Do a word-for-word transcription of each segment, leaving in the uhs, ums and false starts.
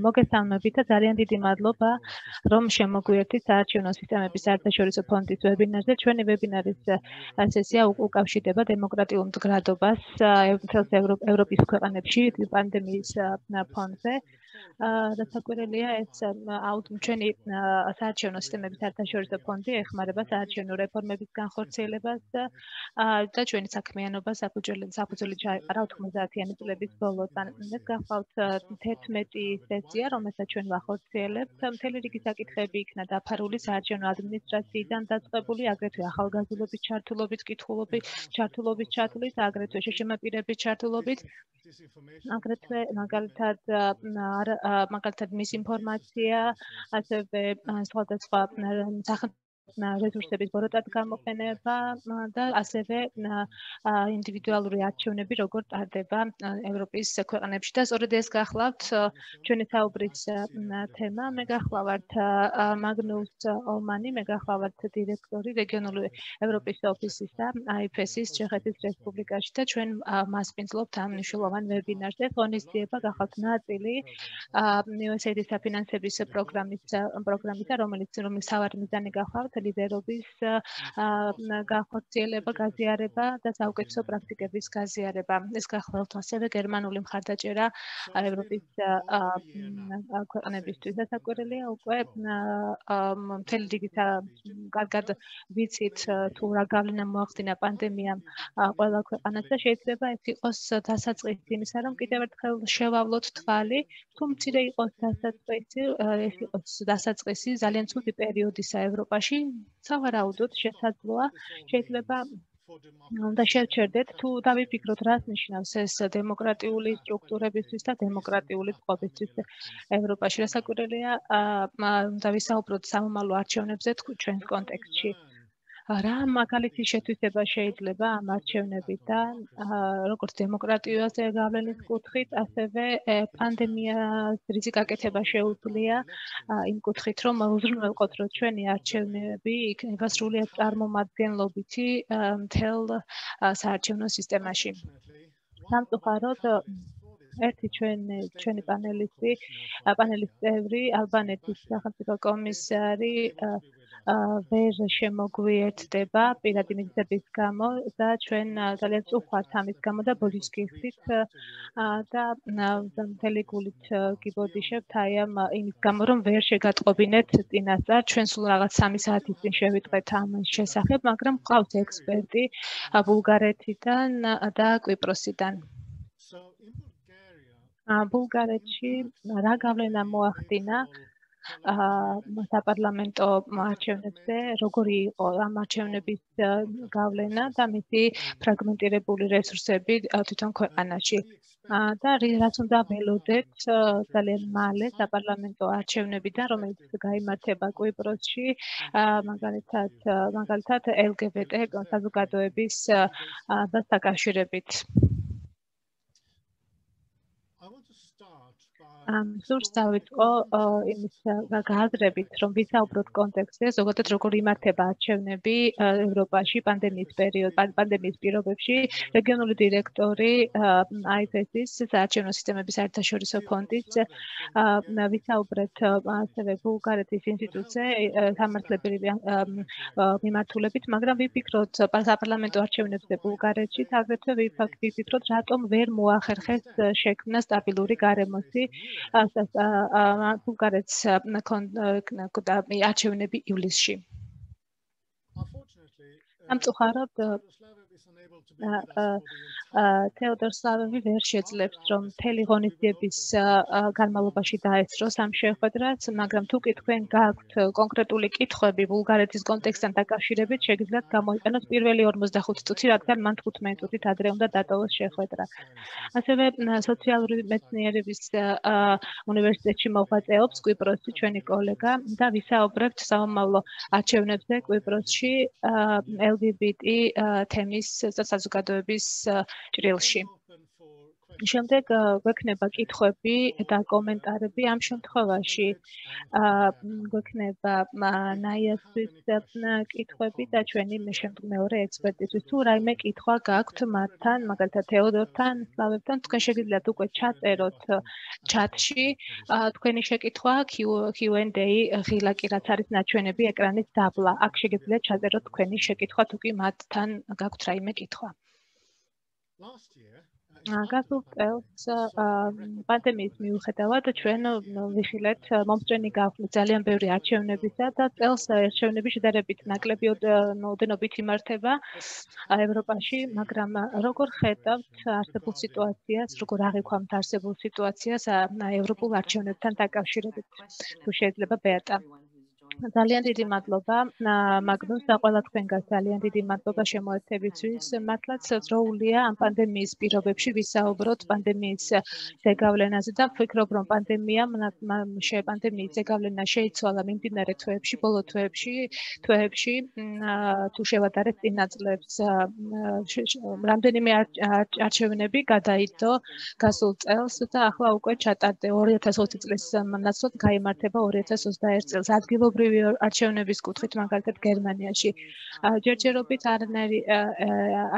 მოგესალმებით და ძალიან დიდი მადლობა, რომ შემოგვიერთდით საარჩევნო სისტემების საერთაშორისო ფონდის ვებინარზე. ჩვენი ვებინარის სესია უკავშირდება დემოკრატიულ მდგრადობას მთელს ევროპის ქვეყანებში პანდემიის ფონზე. დასაკვირველია, ეს ჩვენი საარჩევნო სისტემების საერთაშორისო ფონდი ეხმარება საარჩევნო რეფორმების განხორციელებას და ჩვენი საქმიანობა საფუძველი ჩაეყარა ოთხმოცდაათიანი წლების ბოლოდან. ეს გახლავთ თერთმეტი სესია, რომელსაც ჩვენ ვახორციელებთ. მთელი რიგი საკითხები იქნა დაფარული საარჩევნო ადმინისტრაციიდან დაწყებული, აგრეთვე ახალგაზრდობის ჩართულობით, კითხულობით, ჩართულობის ჩათვლით, აგრეთვე შეშემაპირების ჩართულობით, აგრეთვე მაგალითად მაგალითად მისინფორმაცია, ასევე სხვადასხვა რესურსების ბოროტად გამოყენება და ასევე ინდივიდუალური არჩევნები როგორ ტარდება ევროპის ქვეყნებში და სწორედ ეს გახლავთ ჩვენი საუბრის თემა. მე გახლავართ მაგნუს ოლმანი, მე გახლავართ დირექტორი რეგიონული ევროპის ოფისის და აი ეფ ეს-ის ჩეხეთის რესპუბლიკაში და ჩვენ მასპინძლობთ ამ მნიშვნელოვან ვებინარზე. ღონისძიება გახლავთ ნაწილი იუ ეს ეი აიდი საფინანსების პროგრამის პროგრამისა, რომელიც რომელიც სავარი მიზანი გახლავთ ლიდერობის განხორციელება, გაზიარება და საუკეთესო პრაქტიკების გაზიარება. ეს გახლავთ ასევე გერმანული მხარდაჭერა ევროპის ქვეყნებისთვის. დასაკვირველია უკვე მთელი რიგი კარგად ვიცით თუ რა გავლენა მოახდინა პანდემიამ ყველა ქვეყანას და შეიძლება ეს იყოს დასაწყისი იმისა, რომ კიდევ ერთხელ შევავლოთ თვალი, თუ მცირე იყოს დასაწყისი, ეს იყოს დასაწყისი ძალიან ცუდი პერიოდისა ევროპაში. სავარაუდოდ შესაძლოა შეიძლება და შევჩერდეთ თუ დავიფიქროთ რას ნიშნავს ეს დემოკრატიული სტრუქტურებისთვის და დემოკრატიული წყობისთვის ევროპაში. რასაკვირველია, უნდა ვისაუბროთ სამომავლო არჩევნებზე ჩვენს კონტექსტში. რა მაგალითი შეთვისება შეიძლება ამ არჩევნებიდან, როგორც დემოკრატიაზე გავლენის კუთხით, ასევე პანდემიას რისი გაკეთება შეუძლია იმ კუთხით, რომ უზრუნველყოთ, რომ ჩვენი არჩევნები იქნება სრულიად წარმომადგენლობითი მთელ საარჩევნო სისტემაში. სამწუხაროდ, ერთი ჩვენი ჩვენი პანელისტი, პანელის წევრი, ალბანეთის სახელმწიფო კომისარი ვერ შემოგვიერთდება პირადი მიზეზების გამო და ჩვენ ძალიან წუხართ ამის გამო და ბოდიშ გიხდით და მთელი გულით გიბოდიშებთ აი ამ იმის გამო, რომ ვერ შეგატყობინეთ წინასწარ. ჩვენ სულ რაღაც სამი საათის წინ შევიტყვეთ ამის შესახებ, მაგრამ ყავს ექსპერტი ბულგარეთიდან და კვიპროსიდან. ბულგარეთში რა გავლენა მოახდინა საპარლამენტო არჩევნებზე, როგორი იყო ამ არჩევნების გავლენა და მისი ფრაგმენტირებული რესურსები თვითონ ქვეყანაში. და რაც უნდა ველოდეთ ძალიან მალე საპარლამენტო არჩევნებიდან, რომელიც გაიმართება კვიპროსში, მაგალითად მაგალითად ელ გი ბი ტი საზოგადოების დაკავშირებით. სურს დავიწყო იმის გააზრებით, რომ ვისაუბროთ კონტექსტზე, ზოგადად როგორ იმართება არჩევნები ევროპაში პანდემიის პერიოდ, პანდემიის პირობებში. რეგიონული დირექტორი აი ეფ ეს-ის საარჩევნო სისტემების საერთაშორისო ფონდის ვისაუბრეთ ასევე ბულგარეთის ინსტიტუტზე სამართლებრივი მიმართულებით, მაგრამ ვიფიქროთ საპარლამენტო არჩევნებზე ბულგარეთში, აგრეთვე ვიფიქროთ, რატომ ვერ მოახერხეს შექმნა სტაბილური გარემოსი ბულგარეთს არჩევნები ივლისში. სამწუხაროდ თეოდორ სლავევი ვერ შეძლებს, რომ მთელი ღონისძიების განმავლობაში დაესწროს ამ შეხვედრას, მაგრამ თუ კი თქვენ გაქვთ კონკრეტული კითხვები ბულგარეთის კონტექსტთან დაკავშირებით, შეგიძლიათ გამოიყენოთ პირველი ორმოცდახუთი წუთი, რადგან მან თხუთმეტი წუთით ადრე უნდა დატოვოს შეხვედრა. ასევე სოციალური მეცნიერების უნივერსიტეტში მოღვაწეობს კვიპროსში ჩვენი კოლეგა და ვისაუბრებთ სამომავლო არჩევნებზე კვიპროსში ელ გი ბი ტი თემის საზოგადოების ჭრილში. შემდეგ გვექნება კითხვები და კომენტარები ამ შემთხვევაში გვექნება ნაიასთვის კითხვები და ჩვენი მეორე ექსპერტისთვის თუ რაიმე კითხვა გაქვთ მათთან, მაგალითად თეოდორთან, სლავებთან, თქვენ შეგიძლიათ უკვე ჩაწეროთ ჩატში თქვენი შეკითხვა Q and A ღილაკი რაც არის ნაჩვენები ეკრანის დაბლა. აქ შეგიძლიათ ჩაწეროთ თქვენი შეკითხვა თუ კი მათთან გაქვთ რაიმე კითხვა. გასულ წელს პანდემიის მიუხედავად ჩვენ ვიხილეთ მომწვენი გავხსნით ძალიან ბევრი არჩევნებისა და წელს არჩევნები შედარებით ნაკლები ოდენობით იმართება ევროპაში, მაგრამ როგორ ხედავთ არსებულ სიტუაციას, როგორ აღიქვამთ არსებულ სიტუაციას ევროპულ არჩევნებთან დაკავშირებით? თუ შეიძლება ბერტა. ძალიან დიდი მადლობა მაგნუს და ყველა თქვენგან ძალიან დიდი მადლობა შემოერთებისთვის. მართლაც ძროულია ამ პანდემიის პირობებში ვისაუბროთ პანდემიის ზეგავლენაზე და ვფიქრობ რომ პანდემიამ პანდემიის ზეგავლენა შეიცვალა მიმდინარე თვეებში, ბოლო თვეებში, თვეებში თუ შევადარეთ წინა წლებს რამდენიმე არჩევნები გადაიდო გასულ წელს და ახლა უკვე ჩატარდა ორი ათას ოცი წლის ნაცვლად გაიმართება ორი ათას ოცდაერთი წელს ადგილობრივი არჩევნების კუთხით მაგალითად გერმანიაში ჯერჯერობით არანაირი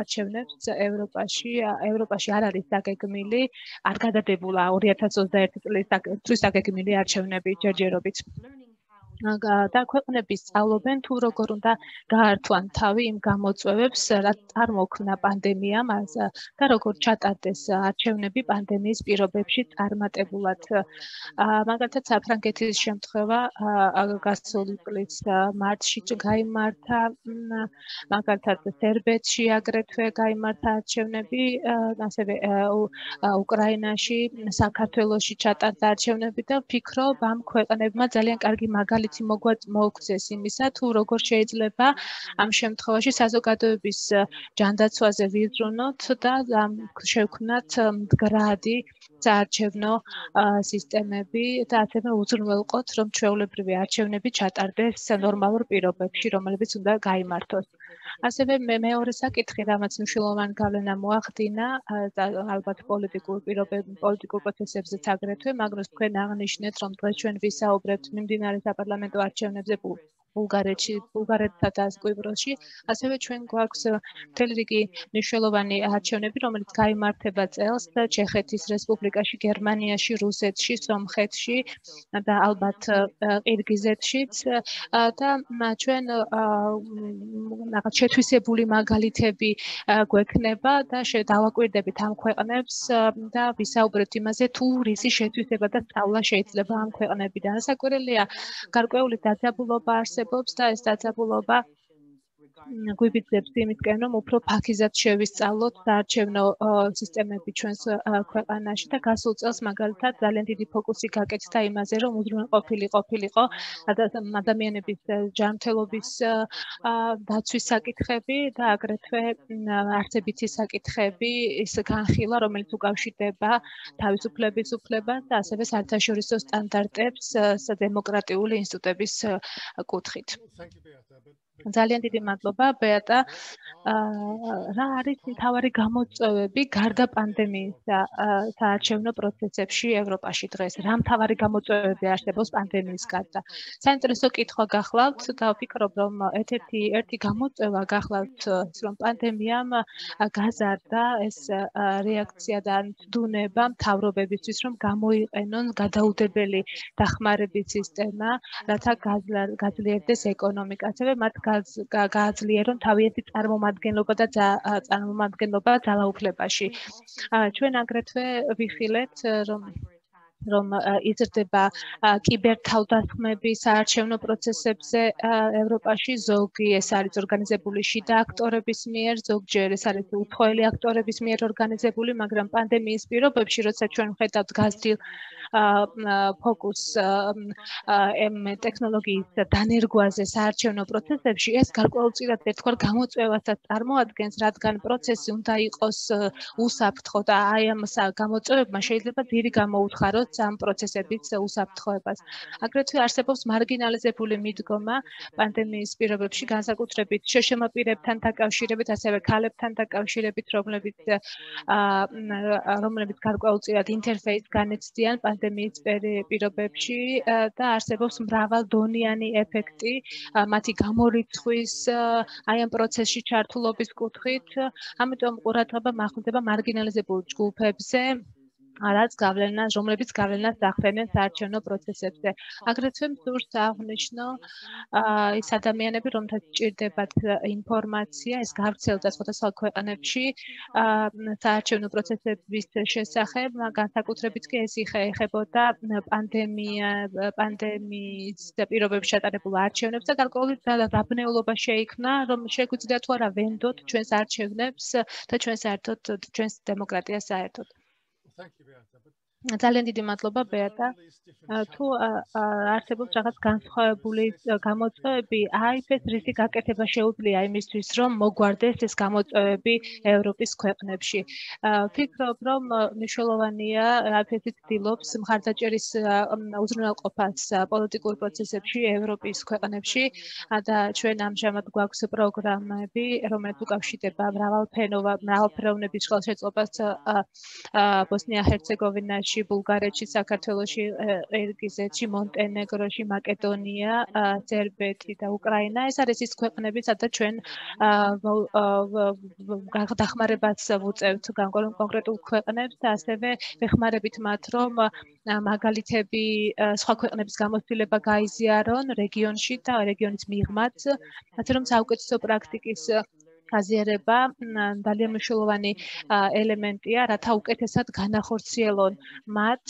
არჩევნებს ევროპაში ევროპაში არ არის დაგეგმილი არ გადადებულა ორი ათას ოცდაერთი წლის დაგეგმილი არჩევნები ჯერჯერობით და ქვეყნები სწავლობენ თუ როგორ უნდა გაართვან თავი იმ გამოწვევებს რაც წარმოქმნა პანდემიამ და როგორ ჩატარდეს არჩევნები პანდემიის პირობებში წარმატებულად მაგალითად საფრანგეთის შემთხვევა გასული წლის მარტში გაიმართა მაგალითად სერბეთში აგრეთვე გაიმართა არჩევნები ასევე უკრაინაში საქართველოში ჩატარდა არჩევნები და ვფიქრობ ამ ქვეყნებმა ძალიან კარგი მაგალითი მოგცეს იმისა თუ როგორ შეიძლება ამ შემთხვევაში საზოგადოების ჯანდაცვაზე ვიზრუნოთ და შევქმნათ მდგრადი საარჩევნო სისტემები და ასევე უზრუნველყოთ რომ ჩვეულებრივი არჩევნები ჩატარდეს ნორმალურ პირობებში რომლებიც უნდა გაიმართოს. ასევე მეორე საკითხი რამაც მნიშვნელოვანი გავლენა მოახდინა და ალბათ პოლიტიკურ პირობებში პოლიტიკურ პროცესებზეც აგრეთვე მაგნუს თქვენ აღნიშნეთ რომ დღეს ჩვენ ვისაუბრებთ მიმდინარე საპარლამენტო არჩევნებზე ბულგარეთში, ბულგარეთსა და კვიპროსში, ასევე ჩვენ გვაქვს მთელი რიგი მნიშვნელოვანი არჩევნები, რომელიც გაიმართება წელს ჩეხეთის რესპუბლიკაში, გერმანიაში, რუსეთში, სომხეთში და ალბათ ყირგიზეთშიც და ჩვენ რაღაც შეთვისებული მაგალითები გვექნება და დავაკვირდებით ამ ქვეყნებს და ვისაუბრებთ იმაზე, თუ რისი შეთვისება და სწავლა შეიძლება ამ ქვეყნებიდან. საკვირველია გარკვეული დაძაბულობა არსებობს და ეს დაძაბულობა გვიბიძებს იმისკენ, რომ უფრო ფაქიზად შევისწავლოთ საარჩევნო სისტემები ჩვენს ქვეყანაში და გასულ წელს მაგალითად ძალიან დიდი ფოკუსი გაკეთდა იმაზე, რომ უზრუნველყოფილი ყოფილიყო ადამიანების ჯანმრთელობის დაცვის საკითხები და აგრეთვე არცებითი საკითხები, ის განხილვა, რომელიც უკავშირდება თავისუფლების უფლებას და ასევე საერთაშორისო სტანდარტებს დემოკრატიული ინსტიტუტების კუთხით. ძალიან დიდი მადლობა ბეატა. რა არის მთავარი გამოწვევები გარდა პანდემიის საარჩევნო პროცესებში ევროპაში დღეს? რა მთავარი გამოწვევები არსებობს პანდემიის გარდა? საინტერესო კითხვა გახლავთ და ვფიქრობ, რომ ერთ-ერთი ერთი გამოწვევა გახლავთ, რომ პანდემიამ გაზარდა ეს რეაქცია და მძუნება მთავრობებისთვის, რომ გამოიყენონ გადაუდებელი დახმარების სისტემა, რათა გაძლიერდეს ეკონომიკა. ასევე მათ გააძლიერონ თავიანთი წარმომადგენლობა და წარმომადგენლობა ძალაუფლებაში. ჩვენ აგრეთვე ვიხილეთ, რომ რომ იზრდება კიბერთავდასხმები საარჩევნო პროცესებზე ევროპაში, ზოგი ეს არის ორგანიზებული შიდა აქტორების მიერ, ზოგჯერ ეს არის უცხოელი აქტორების მიერ ორგანიზებული, მაგრამ პანდემიის პირობებში, როცა ჩვენ ვხედავთ გაზრდილ ფოკუს ტექნოლოგიის დანერგვაზე საარჩევნო პროცესებში, ეს გარკვეულწილად ერთგვარ გამოწვევასაც წარმოადგენს, რადგან პროცესი უნდა იყოს უსაფრთხო და აი ამ გამოწვევებმა შეიძლება ძირი გამოუთხაროს ამ პროცესების უსაფრთხოებას. აგრეთვე არსებობს მარგინალიზებული მიდგომა პანდემიის პირობებში, განსაკუთრებით შეშემაპირებთან დაკავშირებით, ასევე ქალებთან დაკავშირებით, რომლებიც რომლებიც გარკვეულწილად ინტერფეისს განიცდიან პანდემიის პირობებში და არსებობს მრავალდონიანი ეფექტი მათი გამორიცხვის აი ამ პროცესში ჩართულობის კუთხით, ამიტომ ყურადღება მახვილდება მარგინალიზებულ ჯგუფებზე, რაც გავლენას, რომლებიც გავლენას ახდენენ საარჩევნო პროცესებზე. აგრეთვე მსურს აღნიშნო ის ადამიანები, რომთაც სჭირდებათ ინფორმაცია, ეს გავრცელდა სხვადასხვა ქვეყნებში საარჩევნო პროცესების შესახებ, განსაკუთრებით კი ეს ეხებოდა პანდემია, პანდემიის პირობებში ჩატარებულ არჩევნებს და გარკვეული დაბნეულობა შეიქმნა, რომ შეგვიძლია თუ არა ვენდოთ ჩვენს არჩევნებს და ჩვენ საერთოდ ჩვენს დემოკრატიას საერთოდ. ძალიან დიდი მადლობა ბეატა. თუ არსებობს რაღაც განსხვავებული გამოწვევები, აიფ-ს რისი გაკეთება შეუძლია იმისთვის, რომ მოგვარდეს ეს გამოწვევები ევროპის ქვეყნებში. ვფიქრობ, რომ მნიშვნელოვანია აიფ-ი ცდილობს მხარდაჭერის უზრუნველყოფას პოლიტიკურ პროცესებში ევროპის ქვეყნებში და ჩვენ ამჟამად გვაქვს პროგრამები, რომელიც უკავშირდება მრავალფეროვნების ხელშეწყობას ბოსნია-ჰერცეგოვინაში, ბულგარეთში, საქართველოში, ყირგიზეთში, მონტენეგროში, მაკედონია, სერბეთი და უკრაინა. ეს არის ის ქვეყნები, სადაც ჩვენ დახმარებას ვუწევთ კონკრეტულ ქვეყნებს და ასევე ვეხმარებით მათ, რომ მაგალითები სხვა ქვეყნების გამოცდილება გაიზიარონ რეგიონში და რეგიონის მიღმაც, ასე რომ საუკეთესო პრაქტიკის აზიარება ძალიან მნიშვნელოვანი ელემენტია, რათა უკეთესად განახორციელონ მათ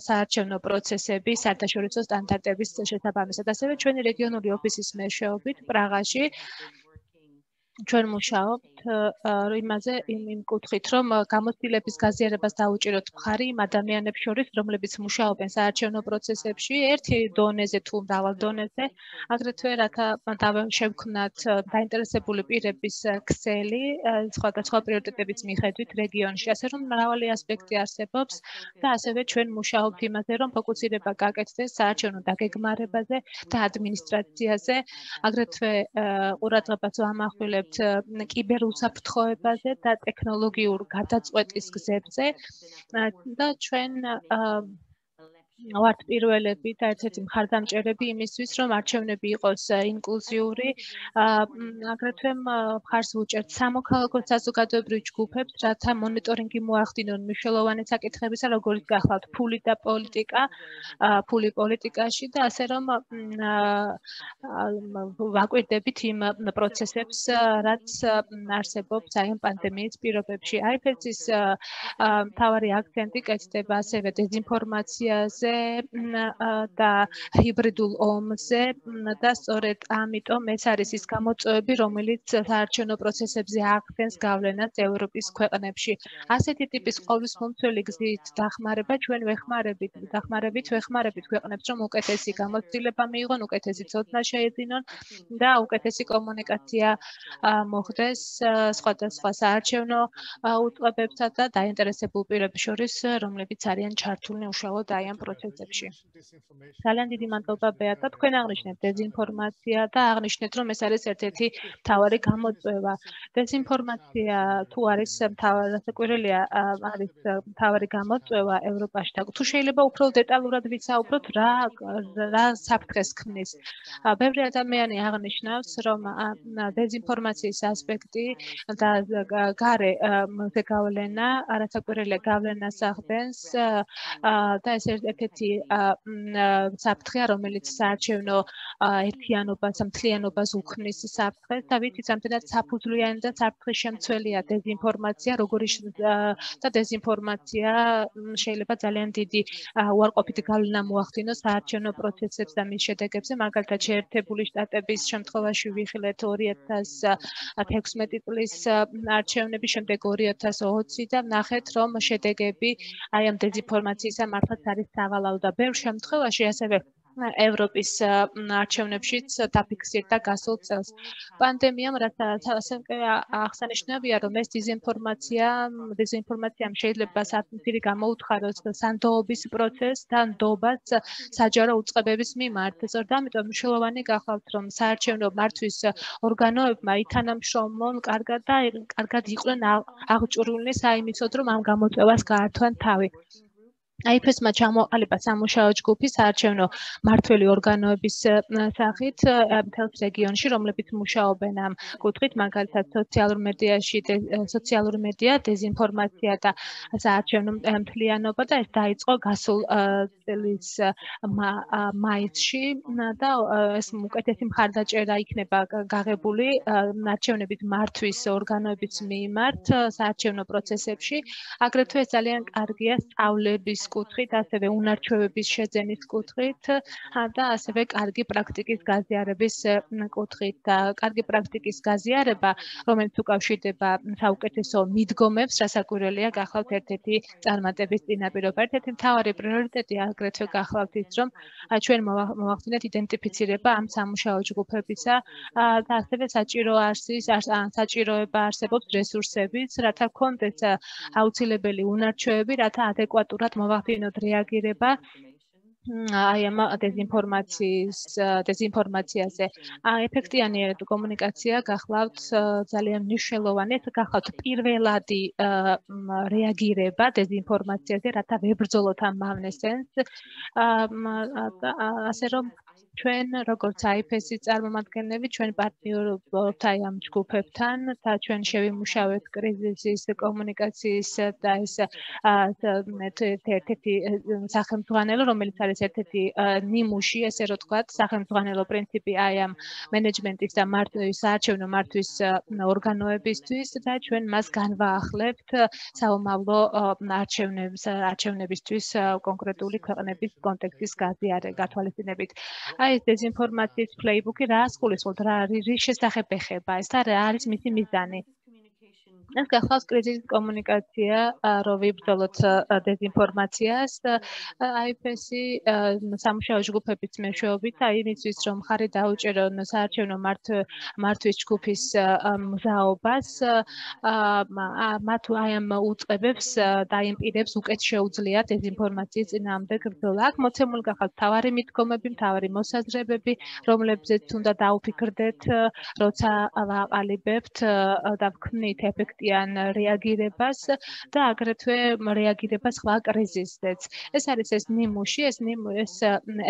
საარჩევნო პროცესები საერთაშორისო სტანდარტების შესაბამისად. ასევე ჩვენი რეგიონული ოფისის მეშვეობით პრაღაში ჩვენ მუშაობთ იმაზე, იმ კუთხით, რომ გამოცდილების გაზიარებას დაუჭიროთ მხარი იმ ადამიანებს შორის, რომლებიც მუშაობენ საარჩევნო პროცესებში, ერთი დონეზე თუ მრავალ დონეზე, აგრეთვე რათა შევქმნათ დაინტერესებული პირების ქსელი სხვადასხვა პრიორიტეტების მიხედვით რეგიონში, ასე რომ მრავალი ასპექტი არსებობს და ასევე ჩვენ მუშაობთ იმაზე, რომ ფოკუსირება გაკეთდეს საარჩევნო დაგეგმარებაზე და ადმინისტრაციაზე, აგრეთვე ყურადღებას ვამახვილებთ კიბერუსაფრთხოებაზე და ტექნოლოგიურ გადაწყვეტის გზებზე და ჩვენ ვართ პირველები და ერთ-ერთი მხარდამჭერები იმისთვის, რომ არჩევნები იყოს ინკლუზიური, აგრეთვე მხარს ვუჭერთ სამოქალაქო საზოგადოებრივ ჯგუფებს, რათა მონიტორინგი მოახდინონ მნიშვნელოვანი საკითხებისა, როგორიც გახლავთ ფული და პოლიტიკა, ფული პოლიტიკაში და ასე რომ ვაკვირდებით იმ პროცესებს, რაც არსებობს აი ამ პანდემიის პირობებში. აიფ-ის მთავარი აქცენტი კეთდება ასევე დეზინფორმაციაზე და ჰიბრიდულ ომზე და სწორედ ამიტომ ეს არის ის გამოწვევები, რომელიც საარჩევნო პროცესებზე ახდენს გავლენას ევროპის ქვეყნებში. ასეთი ტიპის ყოვლისმომცველი გზით დახმარება ჩვენ ვეხმარებით, დახმარებით ვეხმარებით ქვეყნებს, რომ უკეთესი გამოცდილება მიიღონ, უკეთესი ცოდნა შეეძინონ და უკეთესი კომუნიკაცია მოხდეს სხვადასხვა საარჩევნო უწყებებსა და დაინტერესებულ პირებს შორის, რომლებიც არიან ჩართულნი უშუალოდ აი ამ პროცესებში. ძალიან დიდი მადლობა ბეატა, თქვენ აღნიშნეთ დეზინფორმაცია და აღნიშნეთ, რომ ეს არის ერთ-ერთი მთავარი გამოწვევა. დეზინფორმაცია თუ არის მთავარი, რასაკვირველია, არის მთავარი გამოწვევა ევროპაში და თუ შეიძლება უფრო დეტალურად ვისაუბროთ, რა რა საფრთხეს ქმნის. ბევრი ადამიანი აღნიშნავს, რომ დეზინფორმაციის ასპექტი და გარე გავლენა, რასაკვირველია გავლენას ახდენს და ეს ერთ-ერთი საფრთხეა, რომელიც საარჩევნო ერთიანობას, მთლიანობას უქმნის საფრთხეს და ვიცით, რამდენად საფუძვლიანი და საფრთხის შემცველია დეზინფორმაცია, როგორი და დეზინფორმაცია შეიძლება ძალიან დიდი უარყოფითი გავლენა მოახდინოს საარჩევნო პროცესებს და მის შედეგებზე, მაგალითად შეერთებული შტატების შემთხვევაში ვიხილეთ ორი ათას თექვსმეტი წლის არჩევნების შემდეგ ორი ათას ოცი და ნახეთ, რომ შედეგები აი ამ დეზინფორმაციისა მართლაც არის ჩამოაყალავდა და ბევრ შემთხვევაში ასევე ევროპის არჩევნებშიც დაფიქსირდა გასულ წელს. პანდემიამ რაც ასევე აღსანიშნავია, რომ ეს დეზინფორმაცია, დეზინფორმაციამ შეიძლება საფრთხე გამოუთხაროს სანდოობის პროცესს და ნდობას საჯარო უწყებების მიმართ. ზოგადად ამიტომ მნიშვნელოვანი გახლავთ, რომ საარჩევნო მართვის ორგანოებმა ითანამშრომლონ კარგად და კარგად იყვნენ აღჭურვილნი საიმისოდ, რომ ამ გამოწვევას გაართვან თავი. აიფესმა ჩამოყალიბა სამუშაო ჯგუფი საარჩევნო მმართველი ორგანოების სახით მთელს რეგიონში, რომლებიც მუშაობენ ამ კუთხით, მაგალითად სოციალურ მედიაში, სოციალური მედია, დეზინფორმაცია და საარჩევნო მთლიანობა და ეს დაიწყო გასულ წლის მაისში და ეს უკეთესი მხარდაჭერა იქნება გაღებული არჩევნების მართვის ორგანოების მიმართ საარჩევნო პროცესებში. აგრეთვე ეს ძალიან კარგია სწავლების კუთხით, ასევე უნარჩვევების შეძენის კუთხით და ასევე კარგი პრაქტიკის გაზიარების კუთხით. და კარგი პრაქტიკის გაზიარება, რომელიც უკავშირდება საუკეთესო მიდგომებს, რასაკვირველია, გახლავთ ერთ-ერთი წარმატების წინაპირობა. ერთ-ერთი მთავარი პრიორიტეტი აგრეთვე გახლავთ ის, რომ ჩვენ მოვახდინეთ იდენტიფიცირება ამ სამუშაო ჯგუფებისა და ასევე საჭირო არსის, საჭიროება არსებობს რესურსების, რათა გქონდეს აუცილებელი უნარჩვევები, რათა ადეკვატურად მოვახდინოთ რეაგირება აი ამ დეზინფორმაციის დეზინფორმაციაზე. ეფექტიანი კომუნიკაცია გახლავთ ძალიან მნიშვნელოვანი, ეს გახლავთ პირველადი რეაგირება დეზინფორმაციაზე, რათა ვებრძოლოთ ამ მავნესენს. ასე რომ ჩვენ როგორც აიფესის წარმომადგენლები, ჩვენ პარტნიორობთ აი ამ ჯგუფებთან და ჩვენ შევიმუშავეთ კრიზისის კომუნიკაციის და ეს ერთ-ერთი სახელმძღვანელო, რომელიც არის ერთ-ერთი ნიმუში, ესე რომ ვთქვათ, სახელმძღვანელო პრინციპი აი ამ მენეჯმენტის და საარჩევნო მართვის ორგანოებისთვის და ჩვენ მას განვაახლებთ საომავლო არჩევნებს არჩევნებისთვის კონკრეტული ქვეყნების კონტექსტის გათვალისწინებით. აი ეს დეზინფორმაციის პლეიბუკი რა ასკულისხმობთ, რა რის შესახებ ეხება ეს და რა არის მისი მიზანი? ეს გახლავს კრიზისის კომუნიკაცია, რომ ვიბრძოლოთ დეზინფორმაციას. აიფესი სამუშაო ჯგუფების მეშვეობით, აი იმისთვის, რომ ხარი დაუჭერონ საარჩევნო მართვის ჯგუფის მზაობას, მათ აი ამ უწყებებს და იმ პირებს უკეთ შეუძლიათ დეზინფორმაციის წინააღმდეგ ბრძოლა. აქ მოცემული გახლავთ მთავარი მიდგომები, მთავარი მოსაზრებები, რომლებზეც უნდა დაუფიქრდეთ, როცა ვაყალიბებთ და ვქმნით ეფექტიან რეაგირებას და აგრეთვე რეაგირებას სხვა კრიზისზეც. ეს არის ეს ნიმუში, ეს ეს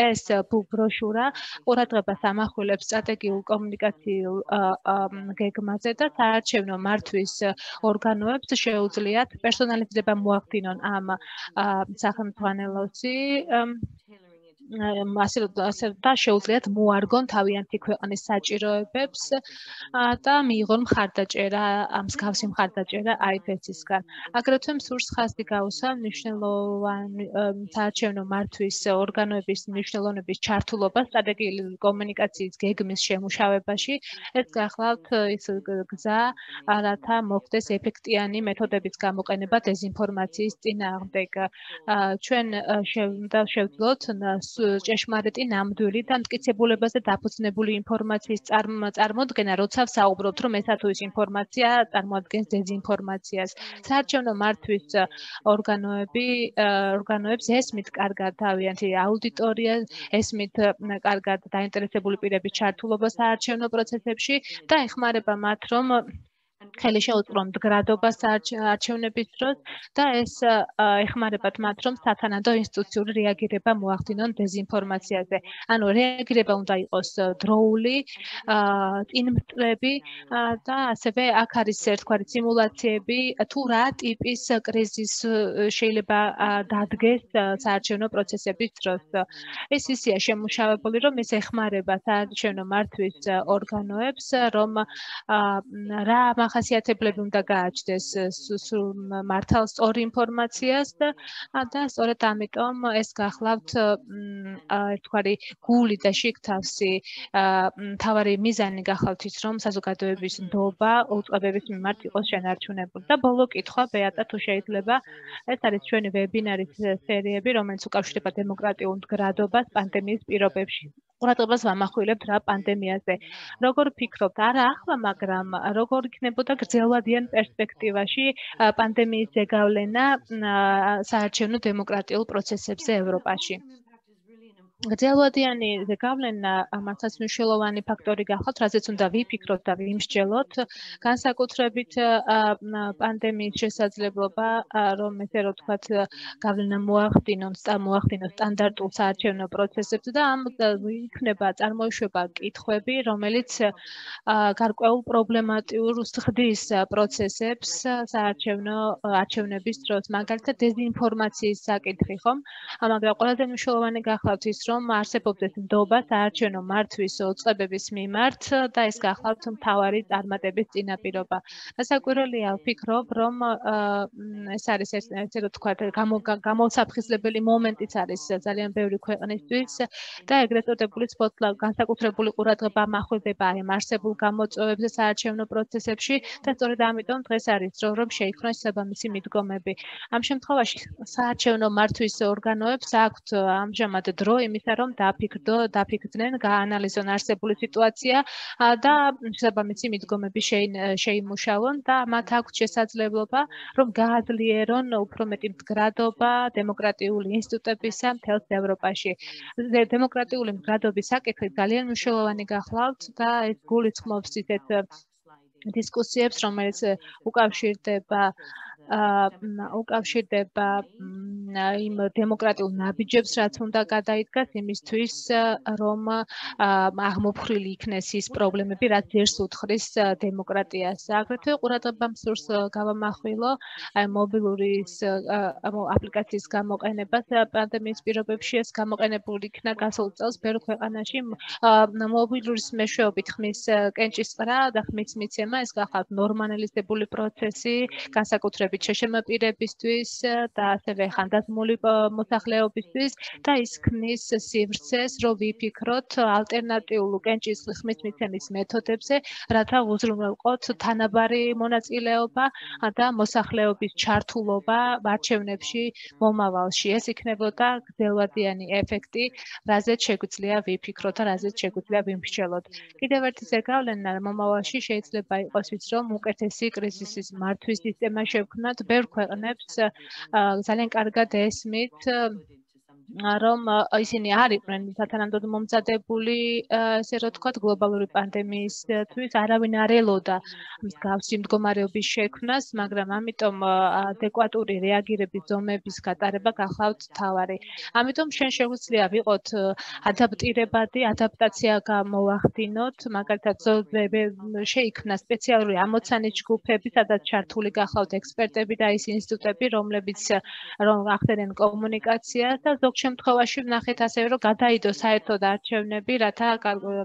ეს ბროშურა ყურადღებას ამახვილებს სტრატეგიულ კომუნიკაციულ გეგმაზე და საარჩევნო მართვის ორგანოებს შეუძლიათ პერსონალიზება მოახდინონ ამ სახელმძღვანელოსი ასე და შეუძლიათ მოარგონ თავიანთი ქვეყნის საჭიროებებს და მიიღონ მხარდაჭერა, მსგავსი მხარდაჭერა აიფესისგან. აგრეთვე მსურს ხაზი გაუსვა მნიშვნელოვანი საარჩევნო მართვის ორგანოების მნიშვნელოვნების ჩართულობა სტრატეგიული კომუნიკაციის გეგმის შემუშავებაში. ეს გახლავთ ის გზა, რათა მოხდეს ეფექტიანი მეთოდების გამოყენება დეზინფორმაციის წინააღმდეგ. ჩვენ უნდა შევძლოთ ჭეშმარიტი, ნამდვილი და მტკიცებულებაზე დაფუძნებული ინფორმაციის წარმოდგენა, როცა ვსაუბრობთ, რომ ესა თუ ის ინფორმაცია წარმოადგენს დეზინფორმაციას. საარჩევნო მართვის ორგანოები, ორგანოებს ესმით კარგად თავიანთი აუდიტორია, ესმით კარგად დაინტერესებული პირების ჩართულობა საარჩევნო პროცესებში და ეხმარება მათ, რომ ხელი შეუწყრონ მდგრადობას არჩევნების დროს და ეს ეხმარებათ მათ, რომ სათანადო ინსტიტუციური რეაგირება მოახდინონ დეზინფორმაციაზე. ანუ რეაგირება უნდა იყოს დროული, წინმწყვეტი და ასევე აქ არის ერთგვარი სიმულაციები, თუ რა ტიპის კრიზის შეიძლება დადგეს საარჩევნო პროცესების დროს. ეს ისეა შემუშავებული, რომ ეს ეხმარება საარჩევნო მართვის ორგანოებს, რომ რა მახასიათებლები უნდა გააჩნდეს მართალ სწორ ინფორმაციას და და სწორედ ამიტომ ეს გახლავთ ერთგვარი გული და შიგთავსი მთავარი მიზანი გახლავთ ის რომ საზოგადოების ნდობა უწყებების მიმართ იყოს შენარჩუნებული და ბოლო კითხვა ბეატა თუ შეიძლება ეს არის ჩვენი ვებინარის სერიები რომელიც უკავშირდება დემოკრატიულ მდგრადობას პანდემიის პირობებში ყურადღებას ვამახვილებთ რა პანდემიაზე როგორ ფიქრობთ არა ახლა მაგრამ როგორ იქნებოდა გრძელვადიან პერსპექტივაში პანდემიის ზეგავლენა საარჩევნო დემოკრატიულ პროცესებზე ევროპაში გრძელვადიანი ზეგავლენა მართლაც მნიშვნელოვანი ფაქტორი გახლავთ, რაზეც უნდა ვიფიქროთ და ვიმსჯელოთ, განსაკუთრებით პანდემიის შესაძლებლობა, რომ ესე რომ თქვათ, გავლენა მოახდინონ, მოახდინოს სტანდარტულ საარჩევნო პროცესებზე და ამ იქნება წარმოიშვება კითხვები, რომელიც გარკვეულ პრობლემატიურ ხდის პროცესებს საარჩევნო არჩევნების დროს, მაგალითად დეზინფორმაციის საკითხი, ხომ? მაგრამ ყველაზე მნიშვნელოვანი გახლავთ ის რომ არსებობდეს ნდობა საარჩევნო მართვის უწყებების მიმართ და ეს გახლავთ მთავარი წარმატების წინაპირობა. დასაკვირველია ვფიქრობ, რომ ეს არის ესე რომ თქვა გამოსაფხიზლებელი მომენტიც არის ძალიან ბევრი ქვეყნისთვის და ეგრეთ წოდებული სპოტლაიტ განსაკუთრებული ყურადღება მახვილდება ამ არსებულ გამოწვევებზე საარჩევნო პროცესებში და სწორედ ამიტომ დღეს არის დრო რომ შეიქმნას საბამისი მიდგომები. ამ შემთხვევაში საარჩევნო მართვის ორგანოებს აქვთ ამჟამად დრო იმისა რომ დაფიქრდო, დაფიქრდნენ, გაანალიზონ არსებული სიტუაცია და შესაბამისი მიდგომები შეიმუშავონ და მათ აქვთ შესაძლებლობა რომ გააძლიერონ უფრო მეტი მდგრადობა დემოკრატიული ინსტიტუტებისა მთელს ევროპაში. დემოკრატიული მდგრადობის საკითხი ძალიან მნიშვნელოვანი გახლავთ და ეს გულისხმობს ისეთ დისკუსიებს, რომელიც უკავშირდება უკავშირდება იმ დემოკრატიულ ნაბიჯებს, რაც უნდა გადაიდგას იმისთვის, რომ აღმოფხრილი იქნეს ის პრობლემები, რაც ძერს უთხრის დემოკრატიას. აგრეთვე ყურადღება მსურს გავამახვილო მობილური აპლიკაციის გამოყენებას პანდემიის პირობებში ეს გამოყენებული იქნა გასულ წელს ბევრ ქვეყანაში მობილურის მეშვეობით ხმის კენჭისყრა და ხმის მიცემა ეს გახლავთ ნორმალიზებული პროცესი, განსაკუთრებით შეშემაპირებისთვის და ასევე ხანდაზმული მოსახლეობისთვის და ის ქმნის სივრცეს, რომ ვიფიქროთ ალტერნატიულ კენჭისყრის ხმის მიცემის მეთოდებზე, რათა უზრუნველყოთ თანაბარი მონაწილეობა და მოსახლეობის ჩართულობა არჩევნებში მომავალში. ეს იქნებოდა გრძელვადიანი ეფექტი, რაზეც შეგვიძლია ვიფიქროთ და რაზეც შეგვიძლია ვიმსჯელოთ. კიდევ ერთი ზეგავლენა მომავალში შეიძლება იყოს ის, რომ უკეთესი კრიზისის მართვის სისტემა შევქმნათ ბევრ ქვეყნებს ძალიან კარგად ესმით რომ ისინი არ იყვნენ სათანადოდ მომზადებული, ესე რომ ვთქვათ, გლობალური პანდემიისთვის, არავინ არ ელოდა მსგავსი მდგომარეობის შექმნას, მაგრამ ამიტომ ადეკვატური რეაგირების ზომების გატარება გახლავთ მთავარი. ამიტომ შენ შეგვიძლია ვიყოთ ადაპტირებადი, ადაპტაცია გამოვახდინოთ, მაგალითად, შეიქმნა სპეციალური ამოცანის ჯგუფები, სადაც ჩართული გახლავთ ექსპერტები და ის ინსტიტუტები, რომლებიც რომ ახდენენ კომუნიკაციას და ზოგ შემთხვევაში ვნახეთ ასევე რომ გადაიდო საერთოდ არჩევნები, რათა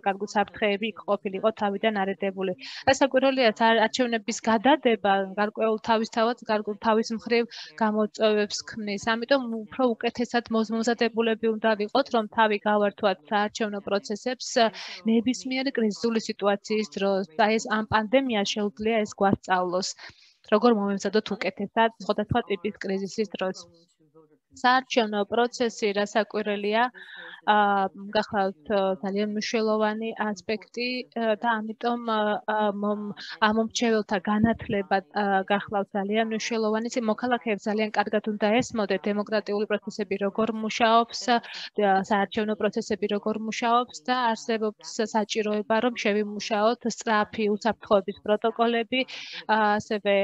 კარგი საფრთხეები იქ ყოფილიყო თავიდან არიდებული. დასაკვირველია არჩევნების გადადება გარკვეულ თავისთავად თავის მხრივ გამოწვევებს ქმნის. ამიტომ უფრო უკეთესად მომზადებულები უნდა ვიყოთ, რომ თავი გავართვათ საარჩევნო პროცესებს ნებისმიერი კრიზისული სიტუაციის დროს. და ეს ამ პანდემიას შეუძლია ეს გვასწავლოს. როგორ მომემზადოთ უკეთესად სხვადასხვა ტიპის კრიზისის დროს. საარჩევნო პროცესი რასაკვირველია გახლავთ ძალიან მნიშვნელოვანი ასპექტი და ამიტომ ამომრჩეველთა განათლება გახლავთ ძალიან მნიშვნელოვანი. მოქალაქეებს ძალიან კარგად უნდა ესმოდეთ დემოკრატიული პროცესები როგორ მუშაობს, საარჩევნო პროცესები როგორ მუშაობს და არსებობს საჭიროება რომ შევიმუშაოთ სწრაფი უსაფრთხოების პროტოკოლები, ასევე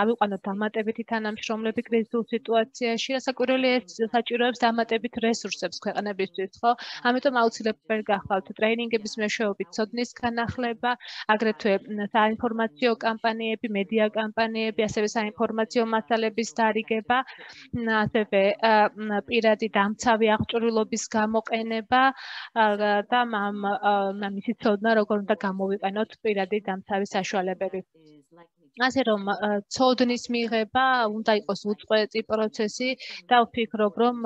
ავიყვანოთ დამატებითი თანამშრომლები კრიზისულ სიტუაციებში ადმინისტრაციაში, რასაკვირველია ეს საჭიროებს დამატებით რესურსებს ქვეყნებისთვის, ხო? ამიტომ აუცილებელი გახლავთ ტრეინინგების მეშვეობით ცოდნის განახლება, აგრეთვე საინფორმაციო კამპანიები, მედია კამპანიები, ასევე საინფორმაციო მასალების დარიგება, ასევე პირადი დამცავი აღჭურვილობის გამოყენება და მისი ცოდნა, როგორ უნდა გამოვიყენოთ პირადი დამცავი საშუალებები. ასე რომ ცოდნის მიღება უნდა იყოს უწყვეტი პროცესი და ვფიქრობ, რომ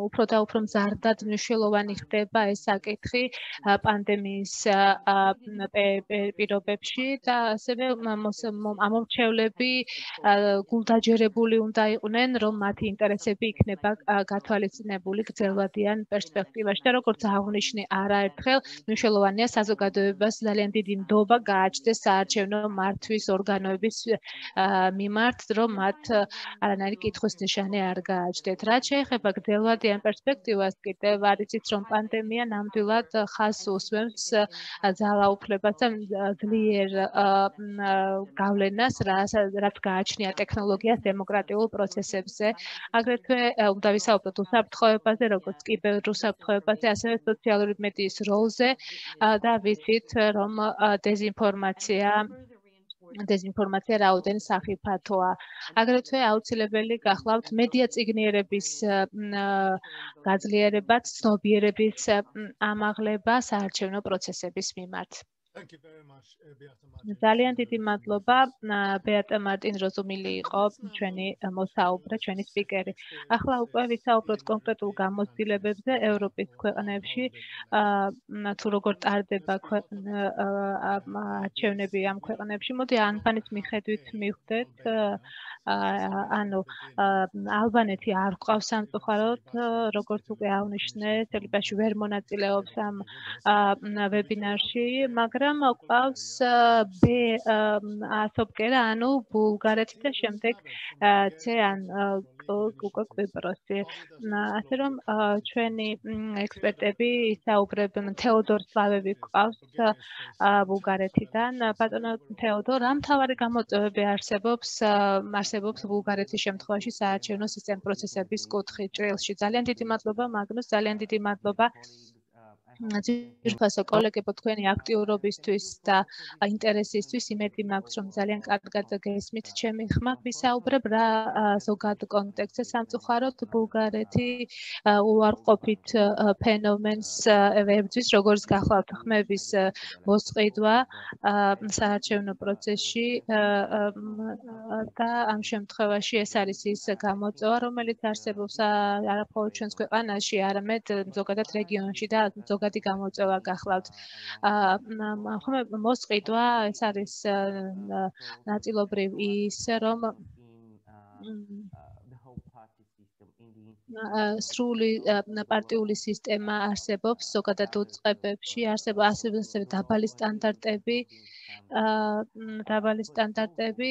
უფრო და უფრო მზარდად მნიშვნელოვანი ხდება ეს საკითხი პანდემიის პირობებში და ასევე ამორჩევლები გულდაჯერებული უნდა იყვნენ, რომ მათი ინტერესები იქნება გათვალისწინებული გრძელვადიან პერსპექტივაში და როგორც აღნიშნე არაერთხელ, მნიშვნელოვანია საზოგადოებას ძალიან დიდი ნდობა გააჩნდეს საარჩევნო მართვის ორგანოების მიმართ, რომ მათ არანაირი კითხვის ნიშანი არ გააჩნდეთ. რაც შეეხება გრძელვადიან პერსპექტივას, კიდევ არ იცით, რომ პანდემია ნამდვილად ხაზს უსვამს ძალაუფლებას და ძლიერ გავლენას, რაც გააჩნია ტექნოლოგიას დემოკრატიულ პროცესებზე. აგრეთვე უნდა ვისაუბროთ უსაფრთხოებაზე, როგორც კიბერუსაფრთხოებაზე, ასევე სოციალური მედიის როლზე და ვიცით, რომ დეზინფორმაცია დეზინფორმაცია რაოდენ სახიფათოა. აგრეთვე აუცილებელი გახლავთ მედია წიგნიერების გაძლიერება, ცნობიერების ამაღლება საარჩევნო პროცესების მიმართ. ძალიან დიდი მადლობა. ბეატა მარტინ როზუმილი იყო ჩვენი მოსაუბრე, ჩვენი სპიკერი. ახლა უკვე ვისაუბროთ კონკრეტულ გამოცდილებებზე ევროპის ქვეყნებში, თუ როგორ ტარდება არჩევნები ამ ქვეყნებში. მოდი ანბანის მიხედვით მივხვდეთ, ანუ ალბანეთი არ გვყავს სამწუხაროდ, როგორც უკვე აღნიშნე, სელიბაში ვერ მონაწილეობს ამ ვებინარში, მაგრამ გვყავს ბ ასობკერა, ანუ ბულგარეთი და შემდეგ C ან უკვე კვიპროსი. ასე რომ ჩვენი ექსპერტები ისაუბრებენ, თეოდორ სლავევი გვყავს ბულგარეთიდან. ბატონო თეოდორ, რა მთავარი გამოწვევები არსებობს არსებობს ბულგარეთის შემთხვევაში საარჩევნო სისტემის პროცესების კუთხით ჭრილში? ძალიან დიდი მადლობა მაგნუს, ძალიან დიდი მადლობა ძირფასო კოლეგებო თქვენი აქტიურობისთვის და ინტერესისთვის. იმედი მაქვს, რომ ძალიან კარგად გესმით ჩემი ხმა. ვისაუბრებ რა ზოგად კონტექსტზე. სამწუხაროდ ბულგარეთი უარყოფით ფენომენს ებრძვის, როგორც გახლავთ ხმების მოსყიდვა საარჩევნო პროცესში და ამ შემთხვევაში ეს არის ის გამოწვევა, რომელიც არსებობს არა მხოლოდ ჩვენს ქვეყანაში, არამედ ზოგადად რეგიონში და ზოგადი გამოწვევა გახლავთ. მოსყიდვა ეს არის ნაწილობრივ ის, რომ სრული პარტიული სისტემა არსებობს ზოგადად უწყებებში, არსებობს ასევე დაბალი სტანდარტები, დაბალი სტანდარტები,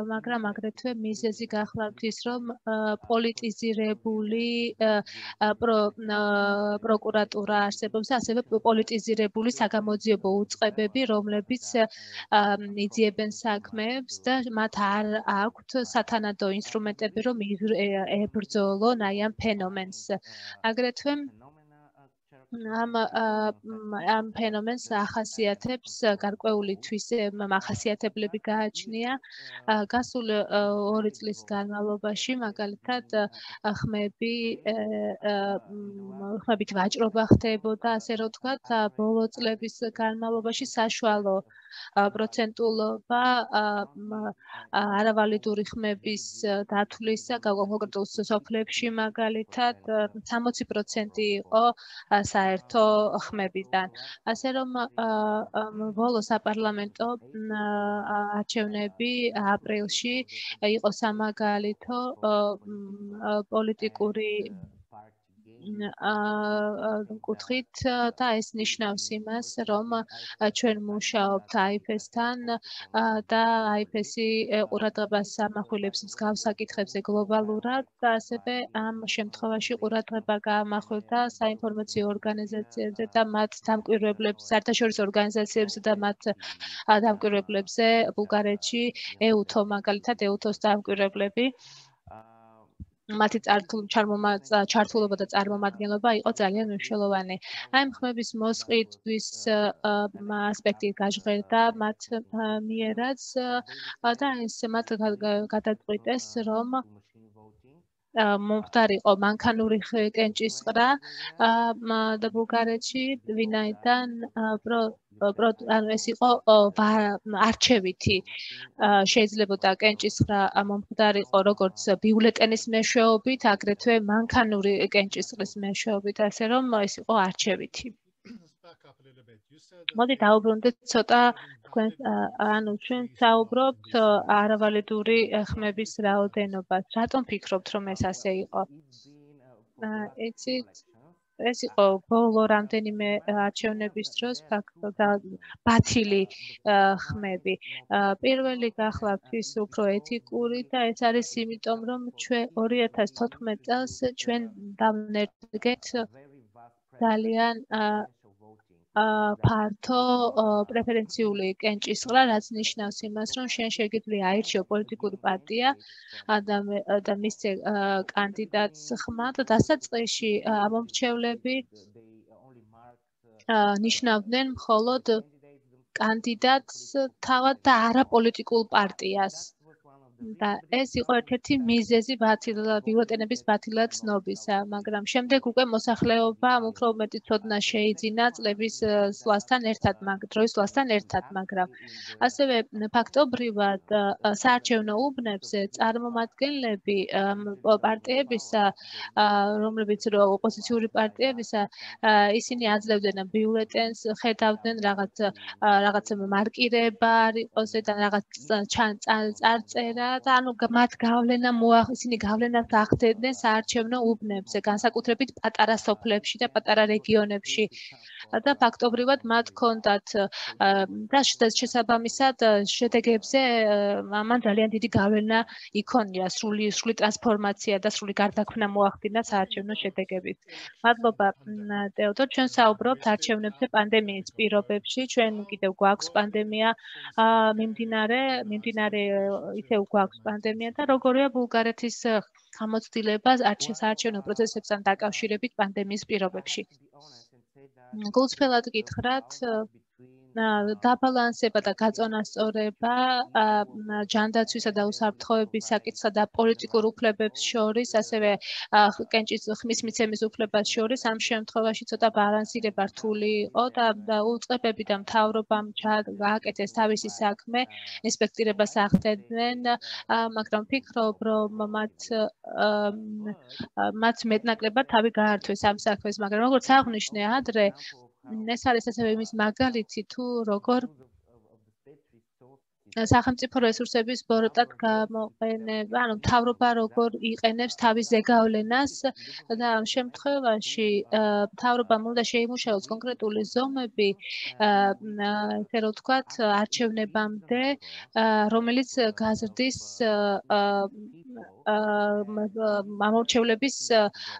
მაგრამ აგრეთვე მიზეზი გახლავთ ის, რომ პოლიტიზირებული პროკურატურა არსებობს, ასევე პოლიტიზირებული საგამოძიებო უწყებები, რომლებიც იძიებენ საქმეებს და მათ არ აქვთ სათანადო ინსტრუმენტები, რომ ებრძოლონ აი ამ ფენომენს. აგრეთვე ამ ამ ფენომენს ახასიათებს გარკვეული მახასიათებლები გააჩნია. გასული ორი წლის განმავლობაში, მაგალითად, ხმები ხმებით ვაჭრობა ხდებოდა, ასე რომ ვთქვათ, ბოლო წლების განმავლობაში საშუალო პროცენტულობა არავალიდური ხმების დათვლისა კონკრეტულ სოფლებში, მაგალითად, სამოცი პროცენტი იყო საერთო ხმებიდან. ასე რომ ბოლო საპარლამენტო არჩევნები აპრილში იყო სამაგალითო პოლიტიკური კუთხით და ეს ნიშნავს იმას, რომ ჩვენ მუშაობთ აიფესთან და აიფესი ყურადღებას ამახვილებს მსგავს საკითხებზე გლობალურად და ასევე ამ შემთხვევაში ყურადღება გაამახვილდა საინფორმაციო ორგანიზაციებზე და მათ დამკვირვებლებს, საერთაშორისო ორგანიზაციებზე და მათ დამკვირვებლებზე ბულგარეთში, ეუთო მაგალითად, ეუთოს დამკვირვებლები მათი ჩართულობა და წარმომადგენლობა იყო ძალიან მნიშვნელოვანი. აი ხმების მოსყიდვის ასპექტი გაჟღერდა მათ მიერაც და ეს მათ გადაწყვიტეს, რომ მომხდარიყო მანქანური კენჭისყრა და ბულგარეთში, ვინაიდან ანუ ეს იყო არჩევითი შეიძლებოდა კენჭისყრა მომხდარიყო როგორც ბიულეტენის მეშვეობით, აგრეთვე მანქანური კენჭისყრის მეშვეობით, ასე რომ ეს იყო არჩევითი. მოდი დავუბრუნდეთ ცოტა თქვენ ანუ ჩვენ საუბრობთ არავალიდური ხმების რაოდენობას. რატომ ფიქრობთ, რომ ეს ასე იყო? იცით, ეს იყო ბოლო რამდენიმე არჩევნების დროს ფაქტობრივად ბათილი ხმები. პირველი გახლავთ ის უფრო ეთიკური და ეს არის იმიტომ, რომ ჩვენ ორი ათას თოთხმეტ წელს ჩვენ დავნერგეთ ძალიან ფართო პრეფერენციული კენჭისყრა, რაც ნიშნავს იმას, რომ შენ შეგიძლია აირჩიო პოლიტიკური პარტია და მისცე კანდიდატს ხმა და დასაწყისში ამომრჩევლები ნიშნავდნენ მხოლოდ კანდიდატს თავად და არა პოლიტიკურ პარტიას. და ეს იყო ერთ-ერთი მიზეზი ბიულეტენების ბათილად ცნობისა, მაგრამ შემდეგ უკვე მოსახლეობამ უფრო მეტი ცოდნა შეიძინა წლების სვლასთან ერთად, დროის სვლასთან ერთად, მაგრამ ასევე ფაქტობრივად საარჩევნო უბნებზე წარმომადგენლები პარტიებისა, რომლებიც ოპოზიციური პარტიებისა, ისინი აძლევდნენ ბიულეტენს, ხედავდნენ რაღაც რაღაც მარკირება არ იყოს და რაღაც წარწერა და ანუ მათ გავლენა ისინი გავლენას ახდენდნენ საარჩევნო უბნებზე, განსაკუთრებით პატარა სოფლებში და პატარა რეგიონებში. და ფაქტობრივად მათ ჰქონდათ და შესაბამისად შედეგებზე მან ძალიან დიდი გავლენა იქონია, სრული სრული ტრანსფორმაცია და სრული გარდაქმნა მოახდინა საარჩევნო შედეგებით. მადლობა თეოდორ, ჩვენ საუბრობთ არჩევნებზე პანდემიის პირობებში, ჩვენ კიდევ გვაქვს პანდემია მიმდინარე, მიმდინარე ისევ გვაქვს პანდემია და როგორია ბულგარეთის გამოცდილება საარჩევნო პროცესებთან დაკავშირებით პანდემიის პირობებში. გულწრფელად გითხრათ, დაბალანსება და გაწონასწორება ჯანდაცვისა და უსაფრთხოების საკითხსა და პოლიტიკურ უფლებებს შორის, ასევე კენჭის ხმის მიცემის უფლებას შორის, ამ შემთხვევაში ცოტა ბალანსირება რთული იყო და უწყებები და მთავრობამ გააკეთეს თავისი საქმე, ინსპექტირებას ახდენდნენ, მაგრამ ვფიქრობ, რომ მათ მათ მეტნაკლებად თავი გაართვეს ამ საქმეს, მაგრამ როგორც აღნიშნე ადრე, ეს არის ასევე იმის მაგალითი თუ როგორ სახელმწიფო რესურსების ბოროტად გამოყენება, ანუ მთავრობა როგორ იყენებს თავის ზეგავლენას და ამ შემთხვევაში მთავრობამ უნდა შეიმუშაოს კონკრეტული ზომები, ესე რომ ვთქვათ, არჩევნებამდე, რომელიც გაზრდის ამორჩევლების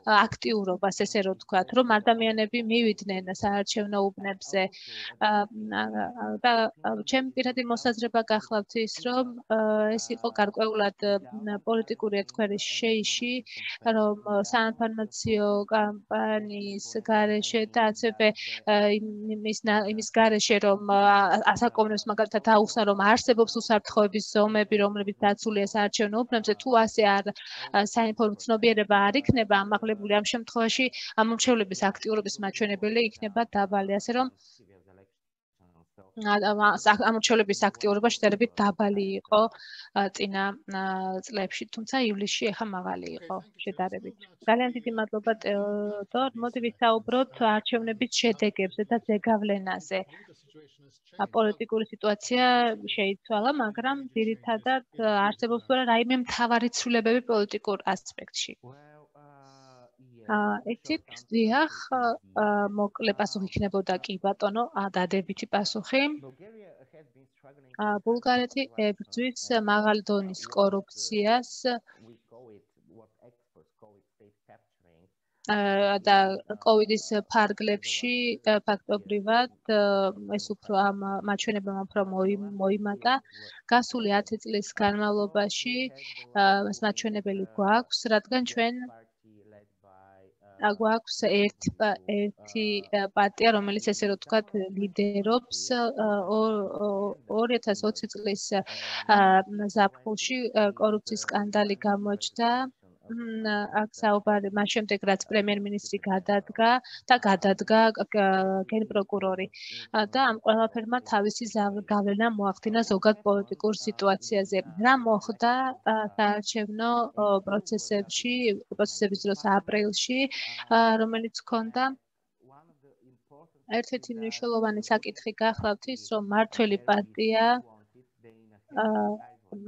აქტიურობას, ესე რომ ვთქვათ, რომ ადამიანები მივიდნენ საარჩევნო უბნებზე და ჩემი პირადი მოსაზრება გახლავთ ის, რომ ეს იყო გარკვეულად პოლიტიკური ეთქვერის შეიში, რომ საინფორმაციო კამპანიის გარეშე და ასევე იმის გარეშე, რომ ასაკომნებს მაგალითად აუხსნა, რომ არსებობს უსაფრთხოების ზომები, რომლებიც დაცულია საარჩევნო უბნებზე, თუ ასე არ საინფორმაციო ცნობიერება არ იქნება ამაღლებული, ამ შემთხვევაში ამომრჩევლების აქტიურობის მაჩვენებელი იქნება დაბალი, ასე რომ ამორჩევლების აქტიურობა შედარებით დაბალი იყო წინა წლებში, თუმცა ივლისში ახლა მაღალი იყო შედარებით. ძალიან დიდი მადლობა თეოდორ, მოდი ვისაუბროთ არჩევნების შედეგებზე და ზეგავლენაზე. პოლიტიკური სიტუაცია შეიცვალა, მაგრამ ძირითადად არსებობს რაიმე მთავარი ცვლილებები პოლიტიკურ ასპექტში. იცით, დიახ, მოკლე პასუხი იქნებოდა კი ბატონო, დადებითი პასუხი. ბულგარეთი ებრძვის მაღალი დონის კორუფციას და კოვიდის ფარგლებში ფაქტობრივად ეს უფრო ამ მაჩვენებამ უფრო მოიმატა. გასული ათი წლის განმავლობაში ეს მაჩვენებელი გვაქვს, რადგან ჩვენ გვაქვს ერთი ერთი პარტია, რომელიც ესე რომ თქვათ ლიდერობს ორი ათას ოცი წლის ზაფხულში კორუფციის სკანდალი გამოჩნდა. აქ საუბარი მას შემდეგ რაც პრემიერ-მინისტრი გადადგა და გადადგა გენპროკურორი და ამ ყველაფერმა თავისი გავლენა მოახდინა ზოგად პოლიტიკურ სიტუაციაზე. რა მოხდა საარჩევნო პროცესებში, პროცესების დროს აპრილში, რომელიც ჰქონდა ერთ-ერთი მნიშვნელოვანი საკითხი გახლავთ ის, რომ მართველი პარტია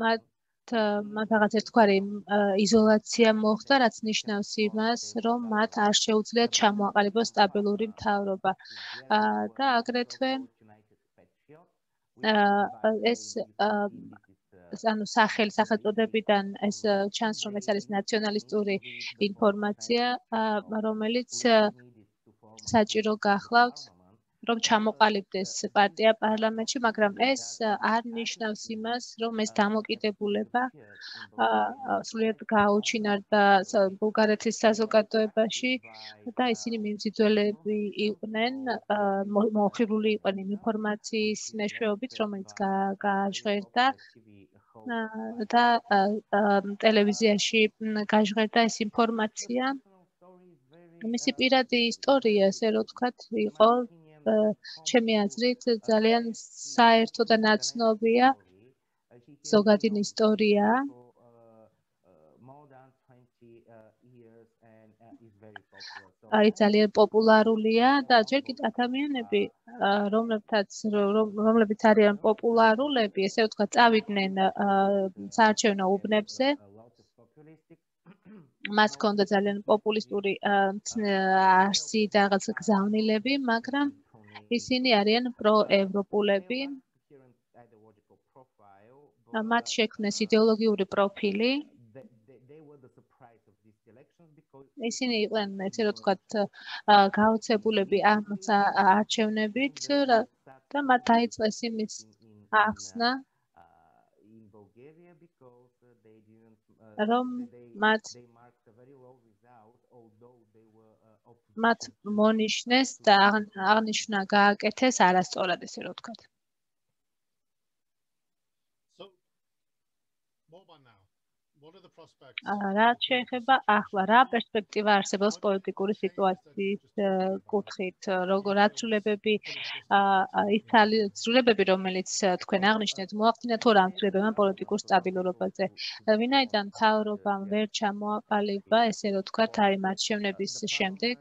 მათ მათ რაღაც ერთგვარი იზოლაცია მოხდა, რაც ნიშნავს იმას, რომ მათ არ შეუძლიათ ჩამოაყალიბოს სტაბილური მთავრობა. და აგრეთვე ეს ანუ სახელი სახელწოდებიდან ეს ჩანს, რომ ეს არის ნაციონალისტური ინფორმაცია, რომელიც საჭირო გახლავთ, რომ ჩამოყალიბდეს პარტია პარლამენტში, მაგრამ ეს არ ნიშნავს იმას, რომ ეს დამოკიდებულება სრულიად გაუჩინარდა ბულგარეთის საზოგადოებაში და ისინი მიმზიდველები იყვნენ, მოხიბლული იყვნენ ინფორმაციის მეშვეობით, რომელიც გააჟღერდა და ტელევიზიაში გაჟღერდა ეს ინფორმაცია. მისი პირადი ისტორია, ესე რომ ვთქვათ, იყო ჩემი აზრით ძალიან საერთო და ნაცნობია. ზოგადი ისტორია. არის ძალიან პოპულარულია და ჯერ კიდევ ადამიანები, რომლებთაც რომლებიც არიან პოპულარულები, ესე ვთქვათ, წავიდნენ საარჩევნო უბნებზე. მას ჰქონდა ძალიან პოპულისტური არსი და რაღაც გზავნილები, მაგრამ ისინი არიან პროევროპულები. მათ შექმნეს იდეოლოგიური პროფილი. ისინი იყვნენ, ესე რომ ვთქვათ, გაოცებულები ამ არჩევნებით და მათ დაიწყეს იმის ახსნა, რომ მათ მათ მონიშნეს და აღნიშნა გააკეთეს არასწორად, ესე რომ ვთქვათ. რაც შეეხება ახლა რა პერსპექტივა არსებობს პოლიტიკური სიტუაციის კუთხით, როგორ აცვლებები იცვლებები, რომელიც თქვენ აღნიშნეთ, მოახდინა თუ რა აცვლებებმა პოლიტიკურ სტაბილურობაზე. ვინაიდან მთავრობამ ვერ ჩამოაყალიბა, ესე რომ ვთქვათ, არის არჩევნების შემდეგ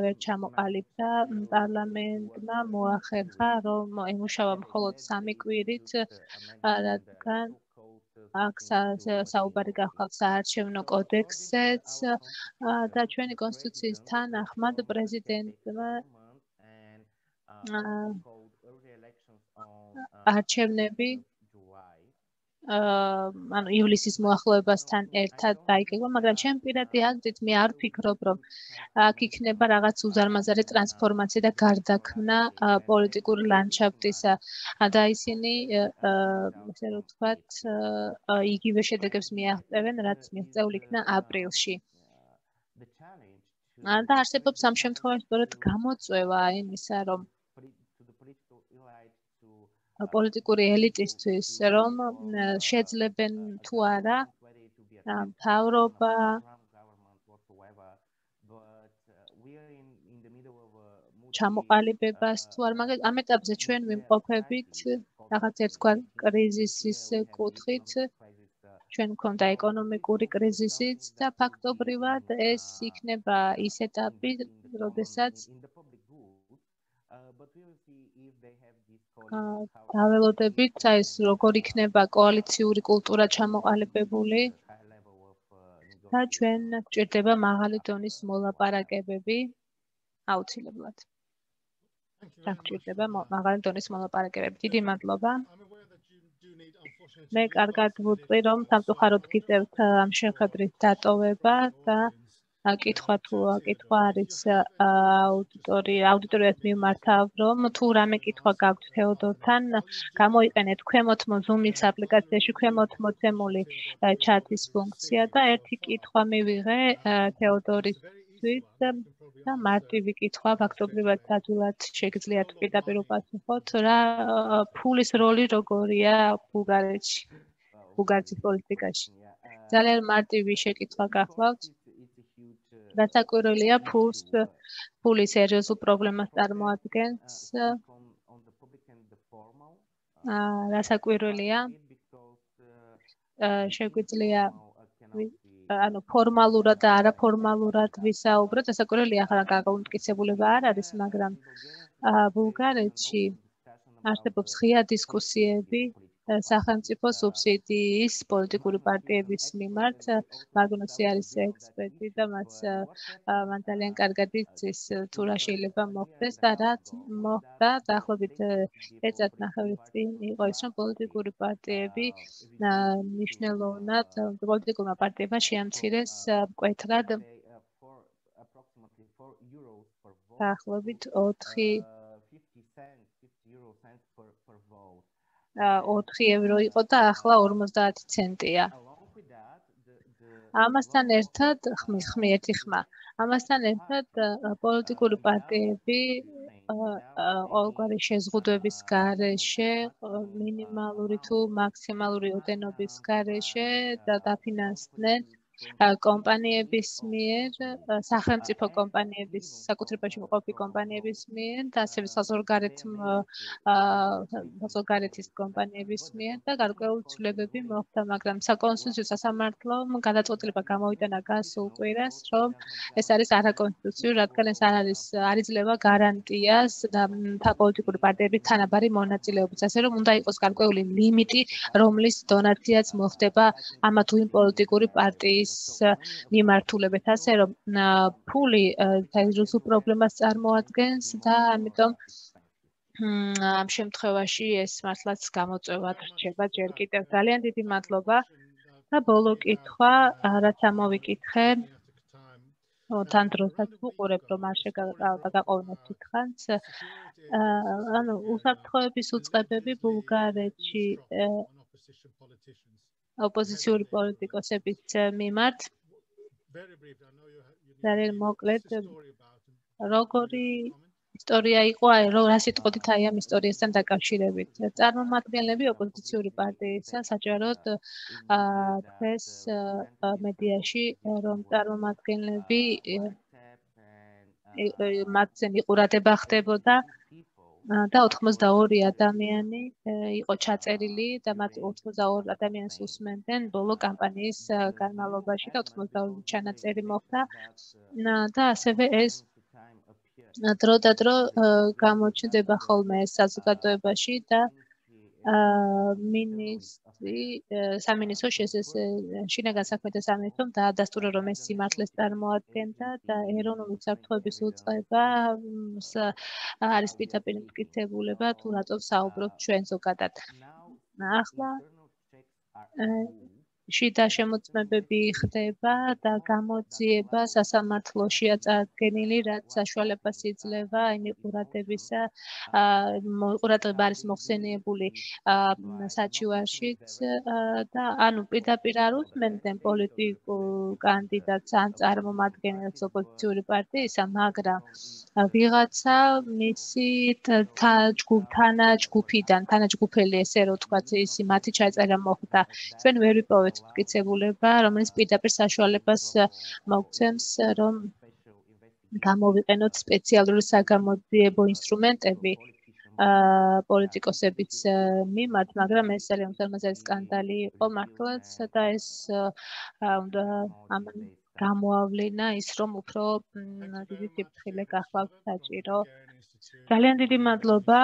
ვერ ჩამოყალიბდა პარლამენტმა მოახერხა, რომ ემუშავა მხოლოდ სამი კვირით, რადგან აქ საუბარი გახლავთ საარჩევნო კოდექსზეც და ჩვენი კონსტიტუციის თანახმად პრეზიდენტმა არჩევნები ანუ ივლისის მოახლოებასთან ერთად დაიკება, მაგრამ ჩემ პირადი აზრით მე არ ვფიქრობ, რომ აქ იქნება რაღაც უზარმაზარი ტრანსფორმაცია და გარდაქმნა პოლიტიკური ლანდშაფტისა და ისინი ესე რომ ვთქვათ, იგივე შედეგებს მიაღწევენ, რაც მიღწეულ იქნა აპრილში. და არსებობს ამ შემთხვევაში სწორედ გამოწვევა იმისა, რომ პოლიტიკური ელიტისთვის, რომ შეძლებენ თუ არა მთავრობა ჩამოყალიბებას თუ არ, მაგრამ ამ ეტაპზე ჩვენ ვიმყოფებით რაღაც ერთგვარ კრიზისის კუთხით. ჩვენ გვქონდა ეკონომიკური კრიზისიც და ფაქტობრივად ეს იქნება ის ეტაპი, როდესაც დაველოდებით, აი ეს როგორ იქნება კოალიციური კულტურა ჩამოყალიბებული და ჩვენ გვჭირდება მაღალი დონის მოლაპარაკებები აუცილებლად. გვჭირდება მაღალი დონის მოლაპარაკებები. დიდი მადლობა. მე კარგად ვუწყი, რომ სამწუხაროდ გიწევთ ამ შეხვედრის დატოვება და კითხვა თუ კითხვა არის აუდიტორია აუდიტორიას მიმართავ, რომ თუ რამე კითხვა გაქვთ თეოდორთან, გამოიყენეთ ქვემოთ Zoom-ის აპლიკაციაში ქვემოთ მოცემული ჩატის ფუნქცია და ერთი კითხვა მივიღე თეოდორისთვის და მარტივი კითხვა ფაქტობრივად ადვილად შეგიძლიათ პირდაპირ უპასუხოთ, რა ფულის როლი როგორია ბულგარეთში, ბულგარეთის პოლიტიკაში. ძალიან მარტივი შეკითხვა გახლავთ. Დასაკვირველია ფულს ფული სერიოზულ პრობლემას წარმოადგენს. დასაკვირველია შეგვიძლია ანუ ფორმალურად და არაფორმალურად ვისაუბროთ. დასაკვირველია ახლა გაგაუმტკიცებულება არ არის, მაგრამ ბულგარეთში არსებობს ღია დისკუსიები სახელმწიფო სუბსიდიის პოლიტიკური პარტიების მიმართ. მაგნუსი არის ექსპერტი და მას მან ძალიან კარგად იცის თუ რა შეიძლება მოხდეს და რაც მოხდა დაახლოებით წელიწადნახევრის წინ იყო ის, რომ პოლიტიკური პარტიები მნიშვნელოვნად პოლიტიკურმა პარტიებმა შეამცირეს მკვეთრად დაახლოებით ოთხი ოთხი ევრო იყო და ახლა ორმოცდაათი ცენტია. ამასთან ერთად ხმი ერთი ხმა. ამასთან ერთად პოლიტიკური პარტიები ყოველგვარი შეზღუდვების გარეშე, მინიმალური თუ მაქსიმალური ოდენობის გარეშე და დაფინანსდნენ კომპანიების მიერ, სახელმწიფო კომპანიების, საკუთრებაში მყოფი კომპანიების მიერ და ასევე საზღვარგარეთის კომპანიების მიერ და გარკვეული ცვლილებები მოხდა, მაგრამ საკონსტიტუციო სასამართლომ გადაწყვეტილება გამოვიტანა გასულ კვირას, რომ ეს არის არაკონსტიტუციური, რადგან ეს არ არის არ იძლევა გარანტიას და პოლიტიკური პარტიების თანაბარი მონაწილეობის, ასე რომ უნდა იყოს გარკვეული ლიმიტი, რომლის დონაციაც მოხდება ამა თუ იმ პოლიტიკური პარტიის მიმართულებით, ასე რომ ფული სერიოზულ პრობლემას წარმოადგენს და ამიტომ ამ შემთხვევაში ეს მართლაც გამოწვევად რჩება ჯერ კიდევ. ძალიან დიდი მადლობა და ბოლო კითხვა, რაც ამოვიკითხე, თან დროსაც ვუყურებ, რომ არ შეგაყოვნეთ თითქოს. ანუ უსაფრთხოების უწყებები ბულგარეთში ოპოზიციური პოლიტიკოსების მიმართ. ძალიან მოკლედ, როგორი ისტორია იყო, აი რა სიტყვით აი ამ ისტორიასთან დაკავშირებით. წარმომადგენლები ოპოზიციური პარტიისა საჯაროდ დღეს მედიაში, რომ წარმომადგენლები მათზე მიყურადება ხდებოდა და ოთხმოცდაორი ადამიანი იყო ჩაწერილი და მათ ოთხმოცდაორ ადამიანს უსმენდნენ ბოლო კამპანიის განმავლობაში და ოთხმოცდაორი ჩანაწერი მოხდა და ასევე ეს დრო და დრო გამოჩნდება ხოლმე საზოგადოებაში და მინისტრი სამინისტრო შინაგან საქმეთა სამინისტრომ დაადასტურა, რომ ეს სიმართლეს წარმოადგენდა და ეროვნული უსაფრთხოების უწყება არის პირდაპირ მტკიცებულება თუ რატომ საუბრობთ ჩვენ ზოგადად. ახლა შიდა შემოწმებები ხდება და გამოძიება სასამართლოშია წარდგენილი, რაც საშუალებას იძლევა იმ ყურადღებისა, ყურადღება არის მოხსენიებული საჩივარშიც და ანუ პირდაპირ არ უსმენდნენ პოლიტიკურ კანდიდატს ან წარმომადგენელს ოპოზიციური პარტიისა, მაგრამ ვიღაცა მისი თანაჯგუფიდან, თანაჯგუფელი ესე რომ ვთქვათ, ისი მათი ჩაწერა მოხდა. ჩვენ ვერ ვიპოვეთ მტკიცებულება, რომელიც პირდაპირ საშუალებას მოგცემს, რომ გამოვიყენოთ სპეციალური საგამოძიებო ინსტრუმენტები პოლიტიკოსების მიმართ, მაგრამ ეს ძალიან უზარმაზარი სკანდალი იყო მართლაც და ეს უნდა ამან გამოავლინა ის, რომ უფრო დიდი სიფრთხილე გახლავთ საჭირო. ძალიან დიდი მადლობა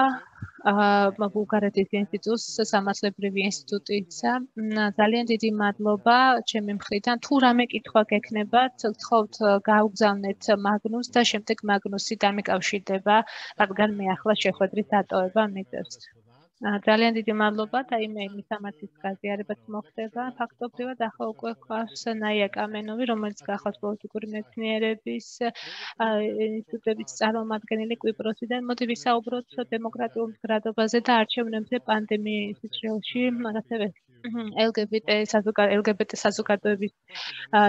ბულგარეთის ინსტიტუტს, სამართლებრივი ინსტიტუტისა. ძალიან დიდი მადლობა ჩემი მხრიდან. თუ რამე კითხვა გექნებათ, გთხოვთ გაუგზავნეთ მაგნუს და შემდეგ მაგნუსი დამიკავშირდება, რადგან მე ახლა შეხვედრის დატოვება მიწერს. ძალიან დიდი მადლობა და იმ მისამართის გაზიარებაც მოხდება. ფაქტობრივად ახლა უკვე გვყავს ნაია კამენოვი, რომელიც გახლავს პოლიტიკური მეცნიერების ინსტიტუტების წარმომადგენელი კვიპროსიდან. მოდი ვისაუბროთ დემოკრატიულ მდგრადობაზე და არჩევნებზე პანდემიის სიჩრილში, ასევე ელგებიტე ელგებიტე საზოგადოების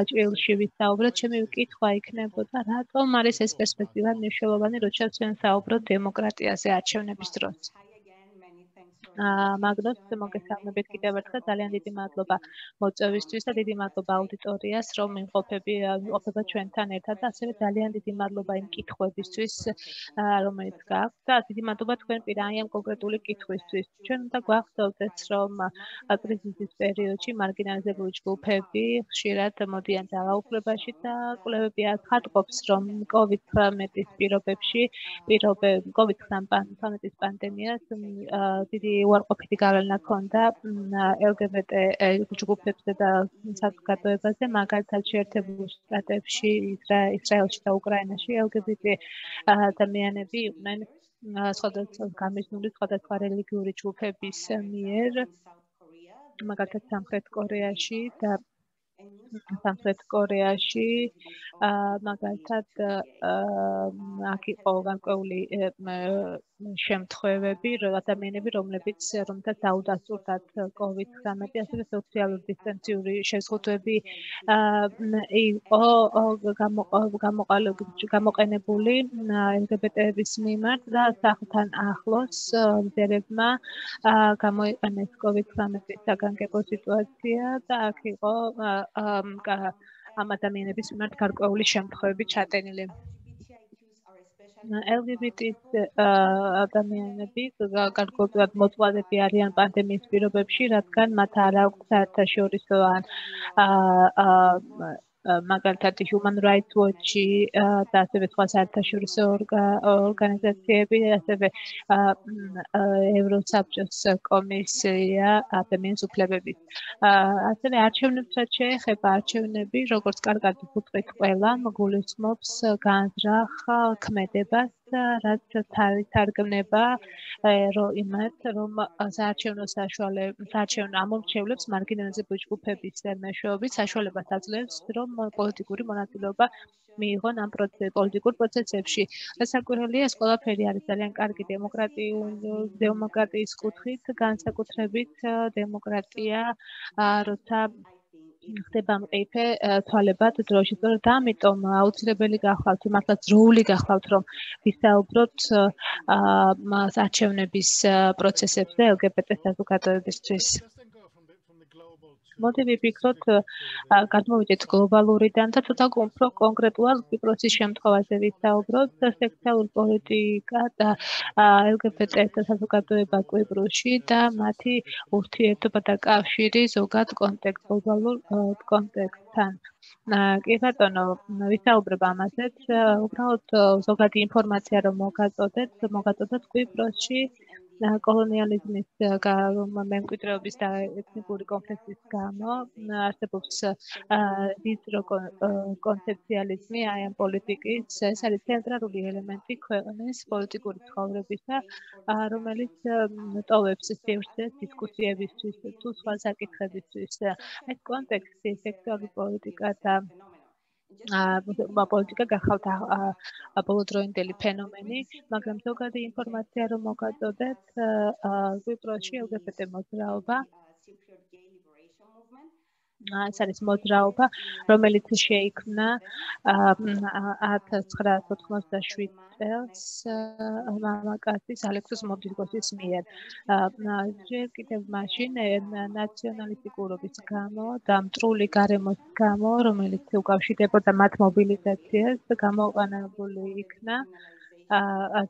ჭრილში ვისაუბროთ. ჩემი კითხვა იქნებოდა, რატომ არის ეს პერსპექტივა მნიშვნელოვანი, როცა ჩვენ საუბრობთ დემოკრატიაზე არჩევნების დროს. მაგნოს მოგესალმებით კიდევ ერთხელ ძალიან დიდი მადლობა მოწვევისთვის და დიდი მადლობა აუდიტორიას რომ იმყოფები იმყოფება ჩვენთან ერთად და ასევე ძალიან დიდი მადლობა იმ კითხვებისთვის რომელიც გაქვთ და დიდი მადლობა თქვენ პირ აი ამ კონკრეტული კითხვისთვის. ჩვენ უნდა გვახსოვდეს რომ კრიზისის პერიოდში მარგინალიზებული ჯგუფები ხშირად მოდიან ძალაუფლებაში და კვლევები აცხადყოფს რომ კოვიდ ცხრამეტის პირობებში პირობები კოვიდ ცხრამეტის პანდემიას დიდი უარყოფითი გავლენა ჰქონდა ელგებეტე ჯგუფებზე და საზოგადოებაზე, მაგალითად შეერთებულ შტატებში, ისრაელში და უკრაინაში ელგებეტე ადამიანები იყვნენ სხვადასხვა გამიზნული სხვადასხვა რელიგიური ჯგუფების მიერ, მაგალითად სამხრეთ კორეაში და სამხრეთ კორეაში მაგალითად აქ იყო განკვეული შემთხვევები, რომ ადამიანები, რომლებიც რომთაც დაუდასტურდათ კოვიდ ცხრამეტი, ასევე სოციალური დისტანციური შეზღუდვები იყო გამოყენებული ელგებეტეების მიმართ და სახლთან ახლოს მზერებმა გამოიყენეს კოვიდ ცხრამეტის საგანგებო სიტუაცია და აქ იყო ამ ადამიანების მიმართ გარკვეული შემთხვევები ჩატენილი. ელგებეტის ადამიანები გარკვეულად მოწვავები არიან პანდემიის პირობებში, რადგან მათ არ აქვს საერთაშორისო ან მაგალითად Human Rights Watch-ი და ასევე სხვა საერთაშორისო ორგანიზაციები, ასევე ევროსაბჭოს კომისია ადამიანის უფლებების. ასევე არჩევნებს რაც შეეხება არჩევნები, როგორც კარგად ვუწყით ყველა, გულისხმობს განზრახ ქმედებას, რაც თარგმნება იმათ, რომ საარჩევნო საშუალებას, საარჩევნო ამორჩევლებს მარგინალიზებული ჯგუფების მეშვეობით საშუალებას აძლევს, რომ პოლიტიკური მონაწილეობა მიიღონ ამ პოლიტიკურ პროცესებში. რასაკვირველია, ეს ყველაფერი არის ძალიან კარგი დემოკრატიის კუთხით, განსაკუთრებით დემოკრატია, როცა ხდება მყიფე თვალებად დროში. სწორედ ამიტომ აუცილებელი გახლავთ, მართლა ძროული გახლავთ, რომ ვისაუბროთ არჩევნების პროცესებზე ელგებეტე საზოგადოებისთვის. მოდი ვიფიქროთ, გადმოვიდეთ გლობალურიდან და ცოტა უფრო კონკრეტულად კვიპროსის შემთხვევაზე ვისაუბროთ. სექსუალური პოლიტიკა და ელგებეტე საზოგადოება კვიპროსში და მათი ურთიერთობა და კავშირი ზოგად კონტექსტ გლობალურ კონტექსტთან. კი ბატონო, ვისაუბრებ ამაზეც, უბრალოდ ზოგადი ინფორმაცია რომ მოგაწოდეთ, მოგაწოდოთ კვიპროსში კოლონიალიზმის მემკვიდრეობის და ეთნიკური კონფლიქტის გამო არსებობს ვიწრო კონცეფციალიზმი აი ამ პოლიტიკის, ეს არის ცენტრალური ელემენტი ქვეყნის პოლიტიკური ცხოვრებისა, რომელიც ტოვებს სივრცეს დისკუსიებისთვის თუ სხვა საკითხებისთვის. ეს კონტექსტი სექსუალური პოლიტიკა და პოლიტიკა გახავთ ბოლოდროინდელი ფენომენი, მაგრამ ზოგადი ინფორმაცია რომ მოგაწოდეთ, კვიპროსში ელგებეტე მოძრაობა ეს არის მოძრაობა, რომელიც შეიქმნა ათას ცხრაასი ოთხმოცდაშვიდ წელს მამაკაცის ალექსის მოდრიგოსის მიერ. ჯერ კიდევ მაშინ ნაციონალისტიკურობის გამო და მტრული გარემოს გამო, რომელიც უკავშირდებოდა მათ მობილიზაციას, გამოყენებული იქნა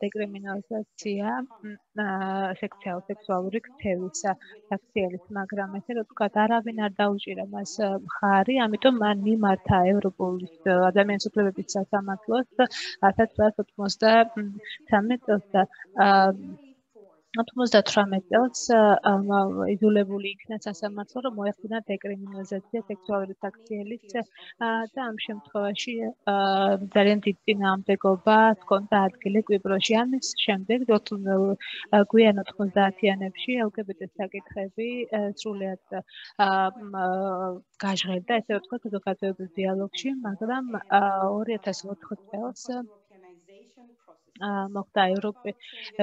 დეკრიმინალიზაცია სექსუალური ქცევისა საქციელის, მაგრამ ესე რომ თქვა, არავინ არ დაუჭირა მას მხარი, ამიტომ მან მიმართა ევროპოლის ადამიანის უფლებების სასამართლოს ათას ცხრაასი ოთხმოცდათვრამეტ წელს და ათმოცდათვრამეტ წელს იძულებული იქნა სასამართლო, რომ მოეხდინა დეკრიმინალიზაცია სექსუალური საქციელის და ამ შემთხვევაში ძალიან დიდ წინააღმდეგობა ჰქონდა ადგილი კვიპროსში. ამის შემდეგ გვიან ოთხმოცდაათიანებში ელგებეტე საკითხები სრულიად გაჟღერდა, ესე ვთქვათ, საზოგადოებრივ დიალოგში, მაგრამ ორი ათას ოთხ წელს მოხდა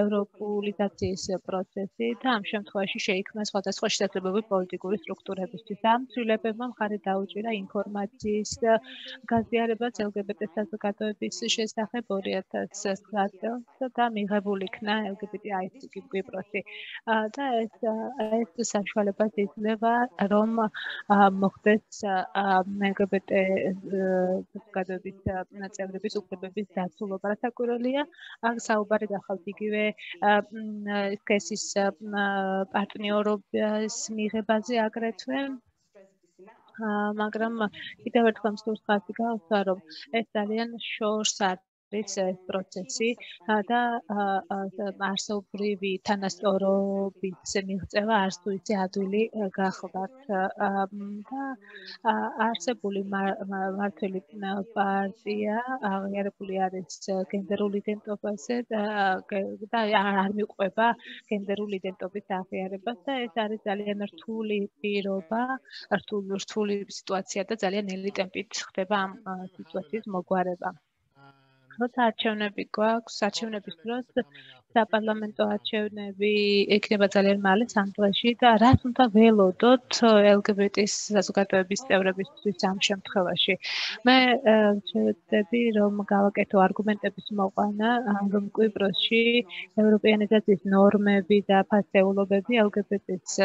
ევროპულიზაციის პროცესი და ამ შემთხვევაში შეიქმნა სხვადასხვა შესაძლებლობები პოლიტიკური სტრუქტურებისთვის. ამ ცვლილებებმა მხარი დაუჭირა ინფორმაციის გაზიარებას ელგებეტე საზოგადოების შესახებ ორი ათას ცხრა წელს და მიღებული იქნა ელგებეტე აის კვიპროსი. და ეს ეს საშუალებას იძლევა, რომ მოხდეს ელგებეტე საზოგადოების წევრების უფლებების დაცულობა. საკვირველია, აქ საუბარი გახავთ იგივე სქესის პარტნიორობის მიღებაზე აგრეთვე, მაგრამ კიდევ ერთხელ მსურს ხაზი გავუსვა, რომ ეს ძალიან შორს არის ეს პროცესი და არსობრივი თანასწორობის მიღწევა არც თუ ისე ადვილი გახლდათ და არსებული მმართველი პარტია აღიარებული არის გენდერულ იდენტობაზე და არ მიყვება გენდერულ იდენტობის აღიარებას და ეს არის ძალიან რთული პირობა, რთული სიტუაცია და ძალიან ნელი ტემპით ხდება ამ სიტუაციის მოგვარება. როცა არჩევნები გვაქვს, არჩევნების დროს საპარლამენტო არჩევნები იქნება ძალიან მალე სამ დღეში და რას უნდა ველოდოთ ელგებეტის საზოგადოების წევრებისთვის ამ შემთხვევაში. მე ვწევდები, რომ გავაკეთო არგუმენტების მოყვანა, რომ კვიპროსში ევროპეანიზაციის ნორმები და ფასეულობები ელგებეტის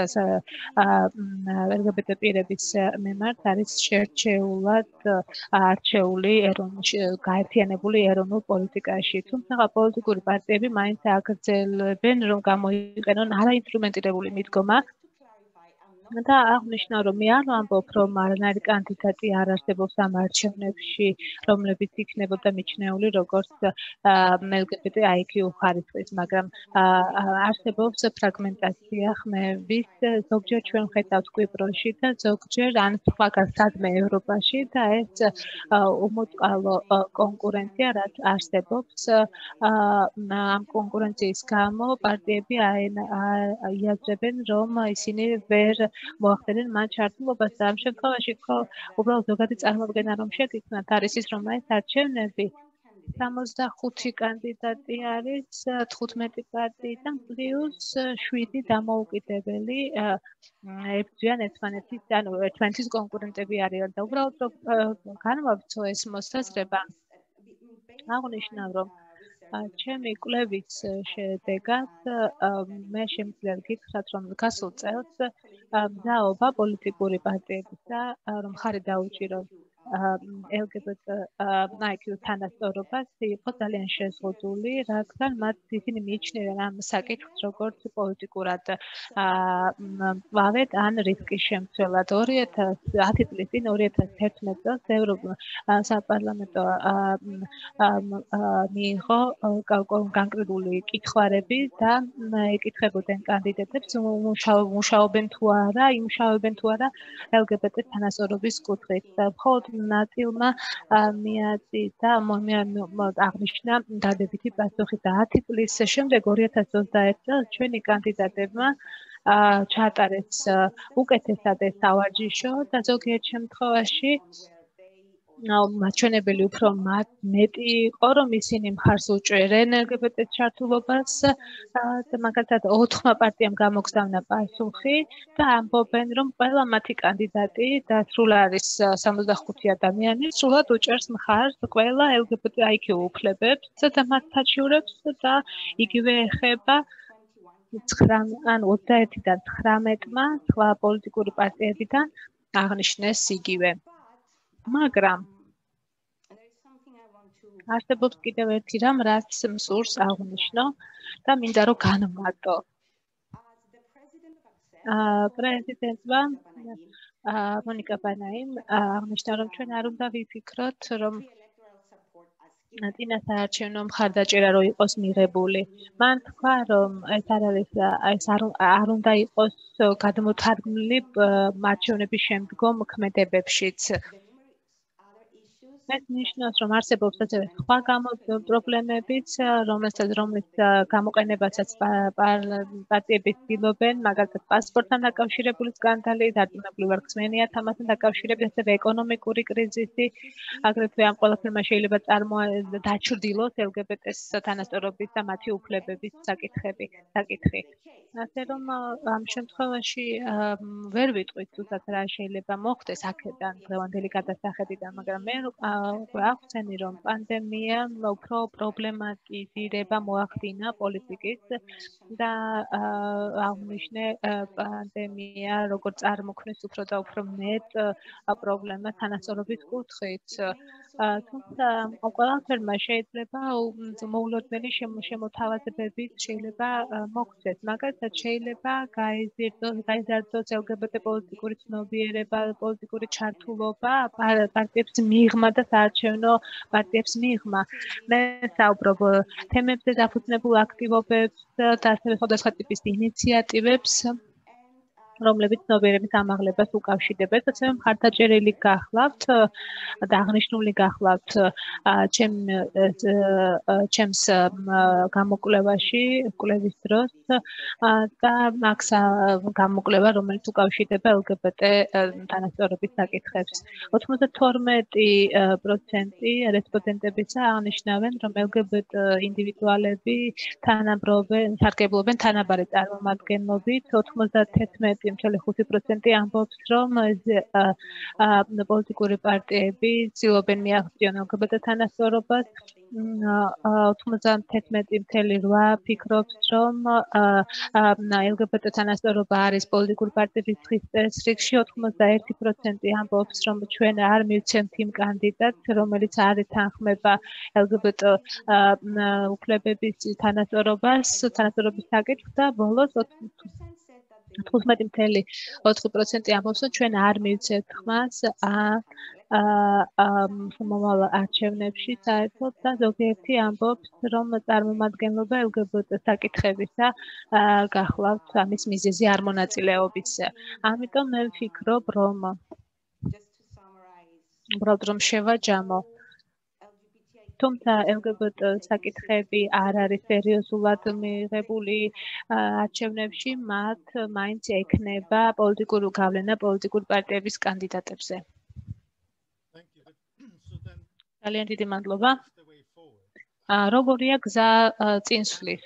ელგებეტე პირების მიმართ არის შერჩეულად არჩეული გაერთიანებული ეროვნულ პოლიტიკაში. თუმცა პოლიტიკური პარტიები მაინც აგრძელებენ, რომ გამოიყენონ არაინსტრუმენტირებული მიდგომა და აღნიშნა, რომ მე არ ვამბობ, რომ არანაირი კანდიდატი არ არსებობს ამ არჩევნებში, რომლებიც იქნებოდა მიჩნეული როგორც ელგებეტე აიკიუ ხარისხის, მაგრამ არსებობს ფრაგმენტაცია ხმების, ზოგჯერ ჩვენ ხედავთ კვიპროსში და ზოგჯერ ან სხვაგან სადმე ევროპაში და ეს უმოწყალო კონკურენცია, რაც არსებობს, ამ კონკურენციის გამო პარტიები აიაზრებენ, რომ ისინი ვერ მოახდენენ მათ ჩართულობას და ამ შემთხვევაში უბრალოდ ზოგადი წარმოდგენა რომ შეგიქმნათ არის ის, რომ ეს არჩევნები სამოცდახუთი კანდიდატი არის თხუთმეტი პარტიიდან პლუს შვიდი დამოუკიდებელი ებრძვიან ერთმანეთის ანუ ერთმანეთის კონკურენტები არიან და უბრალოდ განვავრცო ეს მოსაზრება აღნიშნავ რომ ჩემი კვლევის შედეგად მე შემიძლია გითხრათ, რომ გასულ წელს მზაობა პოლიტიკური პარტიებისა, რომ ხარი დაუჭიროს ელგებეტე აიკიუ თანასწორობას იყო ძალიან შეზღუდული, რადგან მათ ისინი მიიჩნევენ ამ საკითხს როგორც პოლიტიკურად მკლავედ ან რისკის შემცველად. ორი ათას ათი წლის წინ ორი ათას თერთმეტ წელს ევროპულ საპარლამენტო მიიღო განკრებული კითხვარები და ეკითხებოდნენ კანდიდატებს მუშაობენ თუ არა, იმუშავებენ თუ არა ელგებეტე თანასწორობის კუთხით. მხოლოდ ნაწილმა მიაწიდა აღნიშნა დადებითი პასუხი და ათი წლის შემდეგ ორი ათას ოცდაერთ წელს ჩვენი კანდიდატებმა ჩაატარეს უკეთესად ეს სავარჯიშო და ზოგიერთ შემთხვევაში მაჩვენებელი უფრო მეტი იყო, რომ ისინი მხარს უჭერენ ელგებეტეს ჩართულობას და მაგალითად ოთხმა პარტიამ გამოგზავნა პასუხი და ამბობენ, რომ ყველა მათი კანდიდატი და სრულ არის სამოცდახუთი ადამიანი, სრულად უჭერს მხარს ყველა ელგებეტე აიკიუ უფლებებს და მათ საჩივრებს და იგივე ეხება ან ოცდაერთიდან ცხრამეტმა სხვა პოლიტიკური პარტიებიდან აღნიშნეს იგივე. მაგრამ არსებობს კიდევ ერთი რამ, რაც მსურს აღნიშნო და მინდა რომ განვმარტო. პრეზიდენტმა მონიკა ბანაიმ აღნიშნა, რომ ჩვენ არ უნდა ვიფიქროთ, რომ წინა საარჩევნო მხარდაჭერა რო იყოს მიღებული. მან თქვა, რომ ეს არ არის ეს არ უნდა იყოს გადმოთარგმნილი არჩევნების შემდგომ ქმედებებშიც. ეს ნიშნავს, რომ არსებობს ასევე სხვა პრობლემებიც, რომელსაც რომლის გამოყენებასაც პარტიები ცდილობენ, მაგალითად პასპორტთან დაკავშირებული სკანდალი, დარწმუნებული ვარ ხსენიათ ამასთან დაკავშირებით, ასევე ეკონომიკური კრიზისი, აგრეთვე ამ ყველაფერმა შეიძლება დაჩრდილოს ელგებეტეს თანასწორობის და მათი უფლებების საკითხები, საკითხი. ასე რომ ამ შემთხვევაში ვერ ვიტყვით თუნდაც რა შეიძლება მოხდეს აქედან დღევანდელი გადასახედიდან, მაგრამ მე აღხსენი, რომ პანდემიამ უფრო პრობლემატიზირება მოახდინა პოლიტიკის და აღნიშნე პანდემია როგორც წარმოქმნის უფრო და უფრო მეტ პრობლემას თანასწორობის კუთხით. თუმცა ყველაფერმა შეიძლება მოულოდნელი შემოთავაზებებით შეიძლება მოხდეს. მაგალითად შეიძლება გაიზარდოს გაიზარდოს ელგებეტე პოლიტიკური ცნობიერება, პოლიტიკური ჩართულობა პარტიებს მიღმა და საარჩევნო პარტიებს მიღმა. მე საუბრობ თემებზე დაფუძნებულ აქტივობებს და ასევე სხვადასხვა ტიპის ინიციატივებს, რომლებიც ცნობიერების ამაღლებას უკავშირდებენ, ასევე მხარდაჭერილი გახლავთ და აღნიშნული გახლავთ ჩემ ჩემს გამოკვლევაში, კვლევის დროს და აქ გამოკვლევა, რომელიც უკავშირდება ელგებეტე თანასწორობის საკითხებს. ოცდათორმეტი პროცენტი რესპონდენტებისა აღნიშნავენ, რომ ელგებეტე ინდივიდუალები თანაბრობენ, სარგებლობენ თანაბარი წარმომადგენლობით, ოცდათერთმეტი целых ხუთი პროცენტი ამბობს, რომ პოლიტიკური პარტიები ცდილობენ მიაღწიონ ელგებეტე თანასწორობას, ოცდათერთმეტი целых ორი ფიქრობს, რომ ელგებეტე თანასწორობა არის პოლიტიკური პარტიების წრეში, ოცდაერთი პროცენტი ამბობს, რომ ჩვენ არ მივცემთ იმ კანდიდატს, რომელიც არ ეთანხმება ელგებეტე უფლებების თანასწორობას, თანასწორობის საკითხს და ბოლოს თხუთმეტი целых ოთხი პროცენტი ამბობს, რომ ჩვენ არ მივცემთ ხმას მომავალ არჩევნებში საერთოდ და ზოგიერთი ამბობს, რომ წარმომადგენლობა ელგებეტე საკითხებისა გახლავთ ამის მიზეზი არ მონაწილეობისა. ამიტომ მე ვფიქრობ, რომ უბრალოდ რომ შევაჯამო, თუმცა ელგებეტე საკითხები არ არის სერიოზულად მიღებული არჩევნებში, მათ მაინც ექნება პოლიტიკური გავლენა პოლიტიკური პარტიების კანდიდატებზე. ძალიან დიდი მადლობა. როგორია გზა წინსვლის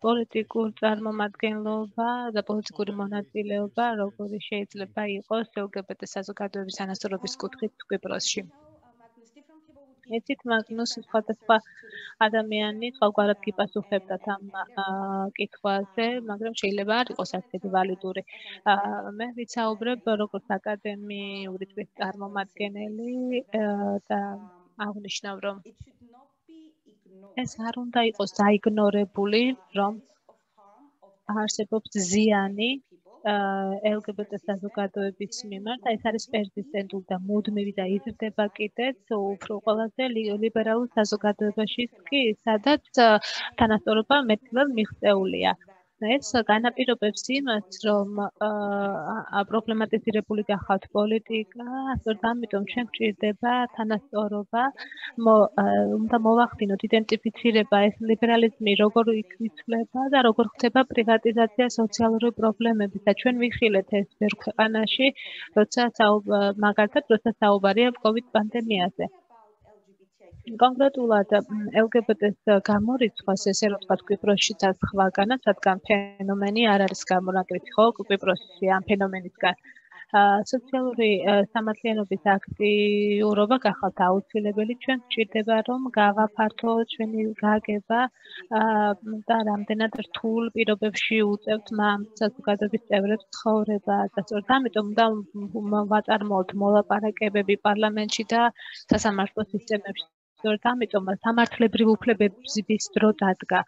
პოლიტიკურ წარმომადგენლობა და პოლიტიკური მონაწილეობა, როგორი შეიძლება იყოს ელგებეტე საზოგადოების თანასწორობის კუთხით კვიპროსში. იცით, მაგნუს სხვადასხვა ადამიანი სხვაგვარად გიპასუხებდათ ამ კითხვაზე, მაგრამ შეიძლება არ იყოს ასეთი ვალიდური. მე ვიცაუბრებ როგორც აკადემიური წრის წარმომადგენელი და აღნიშნავ, რომ ეს არ უნდა იყოს დაიგნორებული, რომ არსებობს ზიანი ელგებეტე საზოგადოების მიმართ, ეს არის პერსისტენტული და მუდმივი და იზრდება კიდეც უფრო ყველაზე ლიბერალურ საზოგადოებაშიც კი, სადაც თანასწორობა მეტწილად მიღწეულია. ეს განაპირობებს იმას, რომ პრობლემატიზირებული გახავთ პოლიტიკა, სწორედ ამიტომ ჩვენ გვჭირდება თანასწორობა, უნდა მოვახდინოთ იდენტიფიცირება ეს ლიბერალიზმი როგორ იცვლება და როგორ ხდება პრივატიზაცია სოციალური პრობლემების და ჩვენ ვიხილეთ ეს ბევრ ქვეყანაში, როცა მაგალითად, როცა საუბარია კოვიდ პანდემიაზე. კონკრეტულად ელგებეტეს გამორიცხვას, ესე რომ ვთქვათ, კვიპროსშიც და სხვაგანაც, რადგან ფენომენი არ არის გამონაკლისი, ხო, კვიპროსში ამ ფენომენისგან. სოციალური სამართლიანობის აქტიურობა გახავთ აუცილებელი, ჩვენ გვჭირდება, რომ გავაფართოთ ჩვენი გაგება და რამდენად რთულ პირობებში უწევთ საზოგადოების წევრებს ცხოვრება და სწორედ ამიტომ უნდა ვაწარმოოთ მოლაპარაკებები პარლამენტში და სასამართლო სისტემებში. სწორედ ამიტომ სამართლებრივი უფლებების დრო დადგა.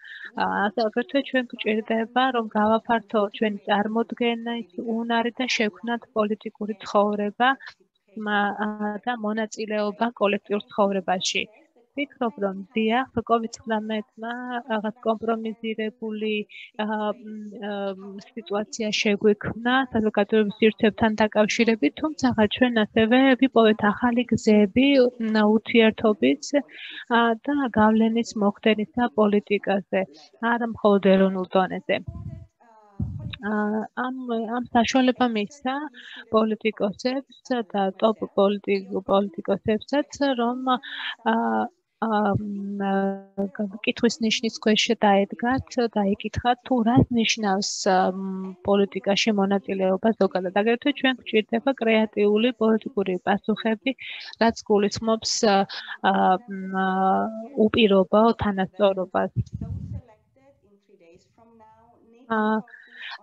აგრეთვე ჩვენ გვჭირდება, რომ გავაფართოთ ჩვენი წარმოდგენის უნარი და შევქმნათ პოლიტიკური ცხოვრება და მონაწილეობა კოლექტიურ ცხოვრებაში. ვფიქრობ, რომ დიახ, კოვიდ ცხრამეტმა რაღაც კომპრომიზირებული სიტუაცია შეგვექმნა საზოგადოების სივრცეებთან დაკავშირებით, თუმცა ჩვენ ასევე ვიპოვეთ ახალი გზები ურთიერთობის და გავლენის მოხდენისა პოლიტიკაზე, არა მხოლოდ ეროვნულ დონეზე. ამ ამ საშუალება მისცა პოლიტიკოსებს და ტოპ პოლიტიკოსებსაც, რომ კითხვის ნიშნის ქვეშ დაედგათ და ეკითხათ, თუ რას ნიშნავს პოლიტიკაში მონაწილეობა ზოგადად. აგრეთვე ჩვენ გვჭირდება კრეატიული პოლიტიკური პასუხები, რაც გულისხმობს უპირობო თანასწორობას.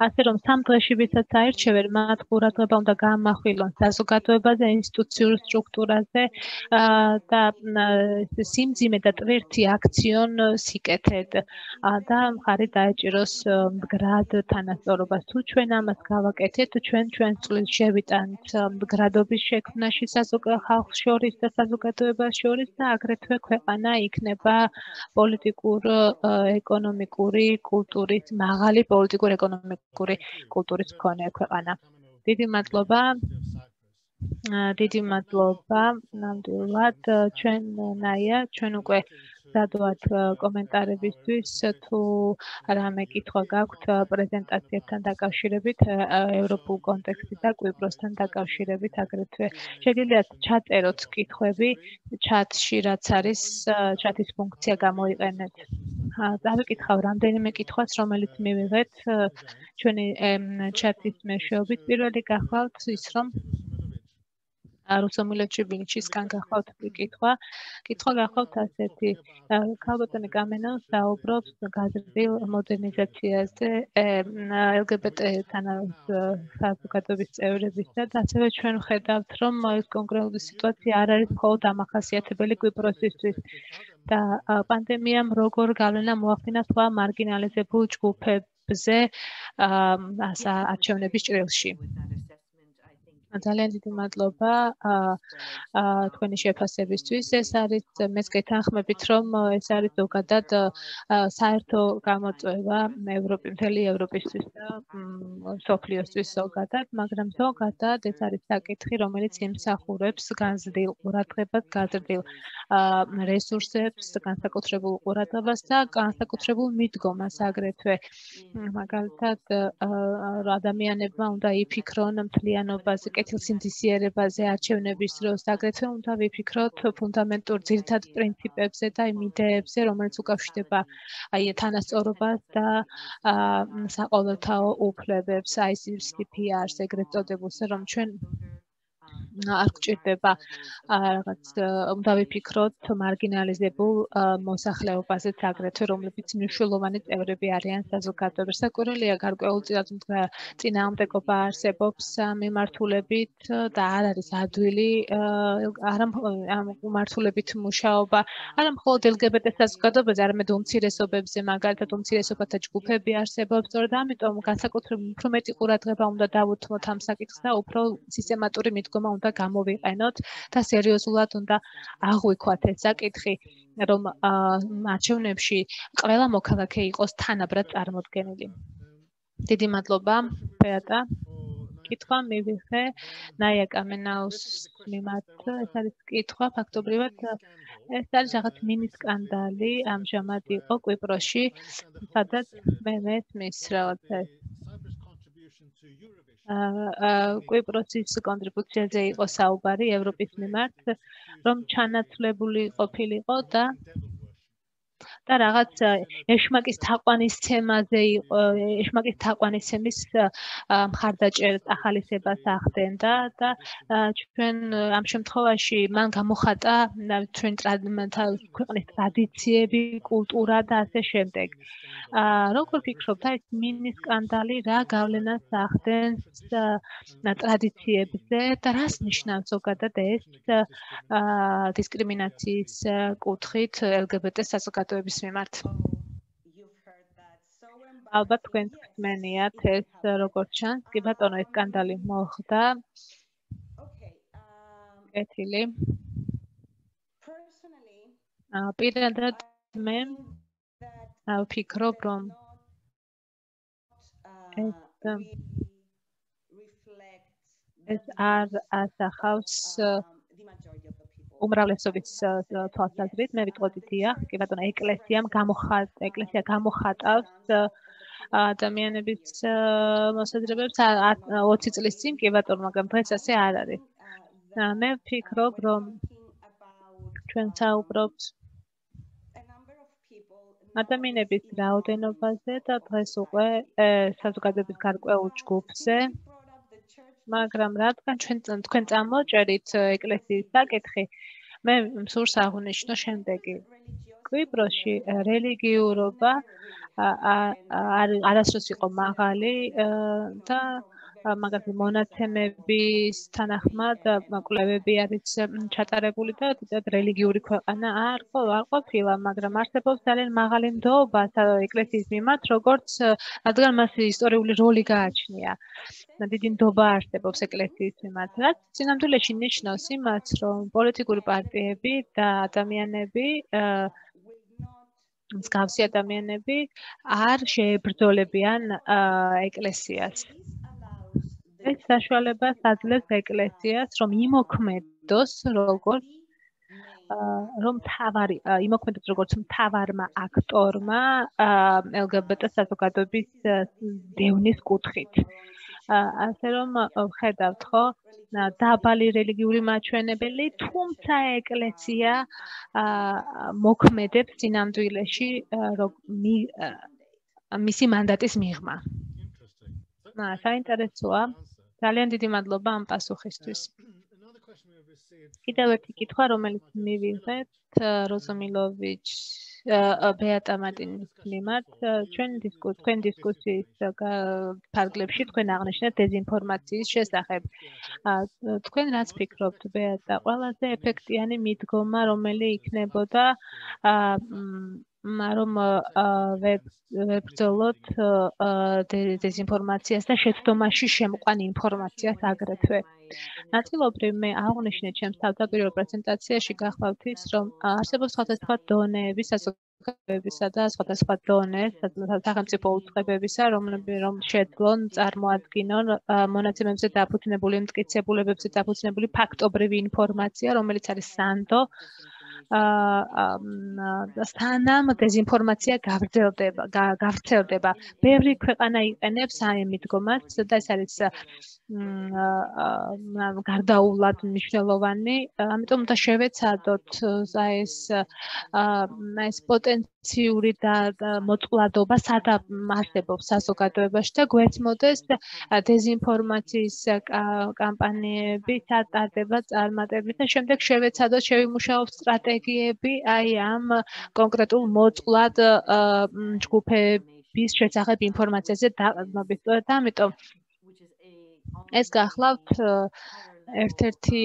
ასე რომ სამ დღეში ვისაც აირჩევენ, მათ ყურადღება უნდა გაამახვილონ საზოგადოებაზე, ინსტიტუციურ სტრუქტურაზე და სიმძიმე და ტვირთი აქციონ სიკეთედ და მხარი დაეჭიროს მდგრად თანასწორობას. თუ ჩვენ ამას გავაკეთეთ, ჩვენ ჩვენს წვლილს შევიტანთ მდგრადობის შექმნაში ხალხს შორის და საზოგადოებას შორის და აგრეთვე ქვეყანა იქნება პოლიტიკურ ეკონომიკური კულტურის მაღალი პოლიტიკურ ეკონომიკური კულტურის მქონე ქვეყანა. დიდი მადლობა. დიდი მადლობა. ნამდვილად ჩვენ ნაია, ჩვენ უკვე სადვათ კომენტარებისთვის, თუ რამე კითხვა გაქვთ პრეზენტაციებთან დაკავშირებით, ევროპულ კონტექსტში და კვიპროსთან დაკავშირებით, აგრეთვე შეგიძლიათ ჩაწეროთ კითხვები ჩატში, რაც არის ჩატის ფუნქცია გამოიყენეთ. დავიკითხავ რამდენიმე კითხვას, რომელიც მივიღეთ ჩვენი ჩატის მეშვეობით. პირველი გახლავთ ის, რომ რუსომილეთში ბინჩისგან გახლავთ კითხვა. კითხვა გახლავთ ასეთი. ქალბატონი კამენოვ საუბრობს გაზრდილ მოდერნიზაციაზე ელგებეტე-თან საზოგადოების წევრებისა და ასევე ჩვენ ვხედავთ, რომ ეს კონკრეტული სიტუაცია არ არის მხოლოდ დამახასიათებელი კვიპროსისთვის და პანდემიამ როგორ გავლენა მოახდინა სხვა მარგინალიზებულ ჯგუფებზე არჩევნების ჭრილში. ძალიან დიდი მადლობა თქვენი შეფასებისთვის. ეს არის მეც გეთანხმებით, რომ ეს არის ზოგადად საერთო გამოწვევა ევროპის მთელი ევროპისთვის და მსოფლიოსთვის ზოგადად, მაგრამ ზოგადად ეს არის საკითხი, რომელიც იმსახურებს განზრდილ ყურადღებას, განზრდილ რესურსებს, განსაკუთრებულ ყურადღებას და განსაკუთრებულ მიდგომას აგრეთვე. მაგალითად, ადამიანებმა უნდა იფიქრონ მთლიანობაზე, კეთილსინდისიერებაზე არჩევნების დროს, აგრეთვე უნდა ვიფიქროთ ფუნდამენტურ ძირითად პრინციპებზე და იმ იდეებზე, რომელიც უკავშირდება აი თანასწორობას და საყოველთაო უფლებებს, აი სი პი არს ეგრეთ წოდებულს, რომ ჩვენ არ გვჭირდება რაღაც უნდა ვიფიქროთ მარგინალიზებულ მოსახლეობაზეც აგრეთვე, რომლებიც მნიშვნელოვანი წევრები არიან საზოგადოებაში. საკვირველია გარკვეულწილად წინააღმდეგობა არსებობს მიმართულებით და არ არის ადვილი არა ამ მიმართულებით მუშაობა, არა მხოლოდ ელგებეტე საზოგადოებაზე, არამედ უმცირესობებზე, მაგალითად უმცირესობათა ჯგუფები არსებობს, სწორედ ამიტომ განსაკუთრებით უფრო მეტი ყურადღება უნდა დავუთმოთ ამ საკითხს და უფრო სისტემატური მიდგომა უნდა გამოვიყენოთ და სერიოზულად უნდა აღვიქვათ ეს საკითხი, რომ არჩევნებში ყველა მოქალაქე იყოს თანაბრად წარმოდგენილი. დიდი მადლობა, ბეატა. კითხვა მივიღე ნაია კამენაუს მიმართ. ეს არის კითხვა ფაქტობრივად ეს არის რაღაც მინი სკანდალი ამჟამად იყო კვიპროსში, სადაც მე მესმის რაღაცა კვიპროსის კონტრიბუციაზე იყო საუბარი ევროპის მიმართ, რომ ჩანაცვლებული ყოფილიყო და და რაღაც ეშმაკის თაყვანისცემაზე იყო, ეშმაკის თაყვანისცემის მხარდაჭერა ახალისებას ახდენდა და ჩვენ ამ შემთხვევაში მან გამოხატა ჩვენ ქვეყნის ტრადიციები, კულტურა და ასე შემდეგ. როგორ ფიქრობთ, ეს მინი სკანდალი რა გავლენას ახდენს ტრადიციებზე და რას ნიშნავს ზოგადად ეს დისკრიმინაციის კუთხით ელგებეტე საზოგადოების მიმართ? ალბათ თქვენ გწმენიათ ეს როგორც ჩანს, კი ბატონო, ეს სკანდალი მოხდა. კეთილი. პირადად მე ვფიქრობ, რომ ეს არ ასახავს უმრავლესობის თვალსაზრისით, მე ვიტყოდი დიახ, კი ბატონო, ეკლესიამ გამოხატ, ეკლესია გამოხატავს ადამიანების მოსაზრებებს ოცი წლის წინ, კი ბატონო, მაგრამ დღეს ასე არ არის. მე ვფიქრობ, რომ ჩვენ საუბრობთ ადამიანების რაოდენობაზე და დღეს უკვე საზოგადოების გარკვეულ ჯგუფზე, მაგრამ რადგან ჩვენ თქვენ წამოჭერით ეკლესიის საკითხი, მე მსურს აღვნიშნო შემდეგი. კვიპროსში რელიგიურობა არასდროს იყო მაღალი და მაგალითად მონაცემების თანახმად კვლევები არის ჩატარებული და რელიგიური ქვეყანა არ ყოფილა, მაგრამ არსებობს ძალიან მაღალი ნდობა ეკლესიის მიმართ, როგორც რადგან მას ისტორიული როლი გააჩნია. დიდი ნდობა არსებობს ეკლესიის მიმართ, რაც სინამდვილეში ნიშნავს იმას, რომ პოლიტიკური პარტიები და ადამიანები მსგავსი ადამიანები არ შეებრძოლებიან ეკლესიას. ეს საშუალებას აძლევს ეკლესიას, რომ იმოქმედოს როგორც რომ თავარი იმოქმედოს როგორც მთავარმა აქტორმა ელგებეტე საზოგადოების დევნის კუთხით. ასე რომ ვხედავთ, ხო, დაბალი რელიგიური მაჩვენებელი, თუმცა ეკლესია მოქმედებს სინამდვილეში მისი მანდატის მიღმა. საინტერესოა. ძალიან დიდი მადლობა ამ პასუხისთვის. კიდევ ერთი კითხვა, რომელიც მივიღეთ როზომილოვიჩ ბეატა მარტინის მიმართ, ჩვენ თქვენ დისკუსიის ფარგლებში თქვენ აღნიშნეთ დეზინფორმაციის შესახებ. თქვენ რაც ფიქრობთ, ბეატა, ყველაზე ეფექტიანი მიდგომა, რომელი იქნებოდა რომ ვებრძოლოთ დეზინფორმაციას და შეცდომაში შემყვან ინფორმაციას აგრეთვე. ნაწილობრივ მე აღვნიშნე ჩემს თავდაპირველ პრეზენტაციაში გახლავთ ის, რომ არსებობს სხვადასხვა დონეები საზოგადოებისა და სხვადასხვა დონე სახელმწიფო უწყებებისა, რომ შეძლონ წარმოადგინონ მონაცემებზე დაფუძნებული, მტკიცებულებებზე დაფუძნებული ფაქტობრივი ინფორმაცია, რომელიც არის სანდო. სანამ დეზინფორმაცია გავრცელდება, გავრცელდება. ბევრი ქვეყანა იყენებს ამ მიდგომას და ეს არის გარდაულად მნიშვნელოვანი, ამიტომ უნდა შევეცადოთ ეს ეს პოტენციური და მოწყვლადობა სადაც არსებობს საზოგადოებაში და გვეცმოდეს დეზინფორმაციის კამპანიები, სატარდება, წარმატებით და შემდეგ შევეცადოთ შევიმუშაოთ სტრატეგიები აი ამ კონკრეტულ მოწყვლად ჯგუფების შესახებ ინფორმაციაზე დაყრდნობით. და ამიტომ ეს გახლავთ ერთ-ერთი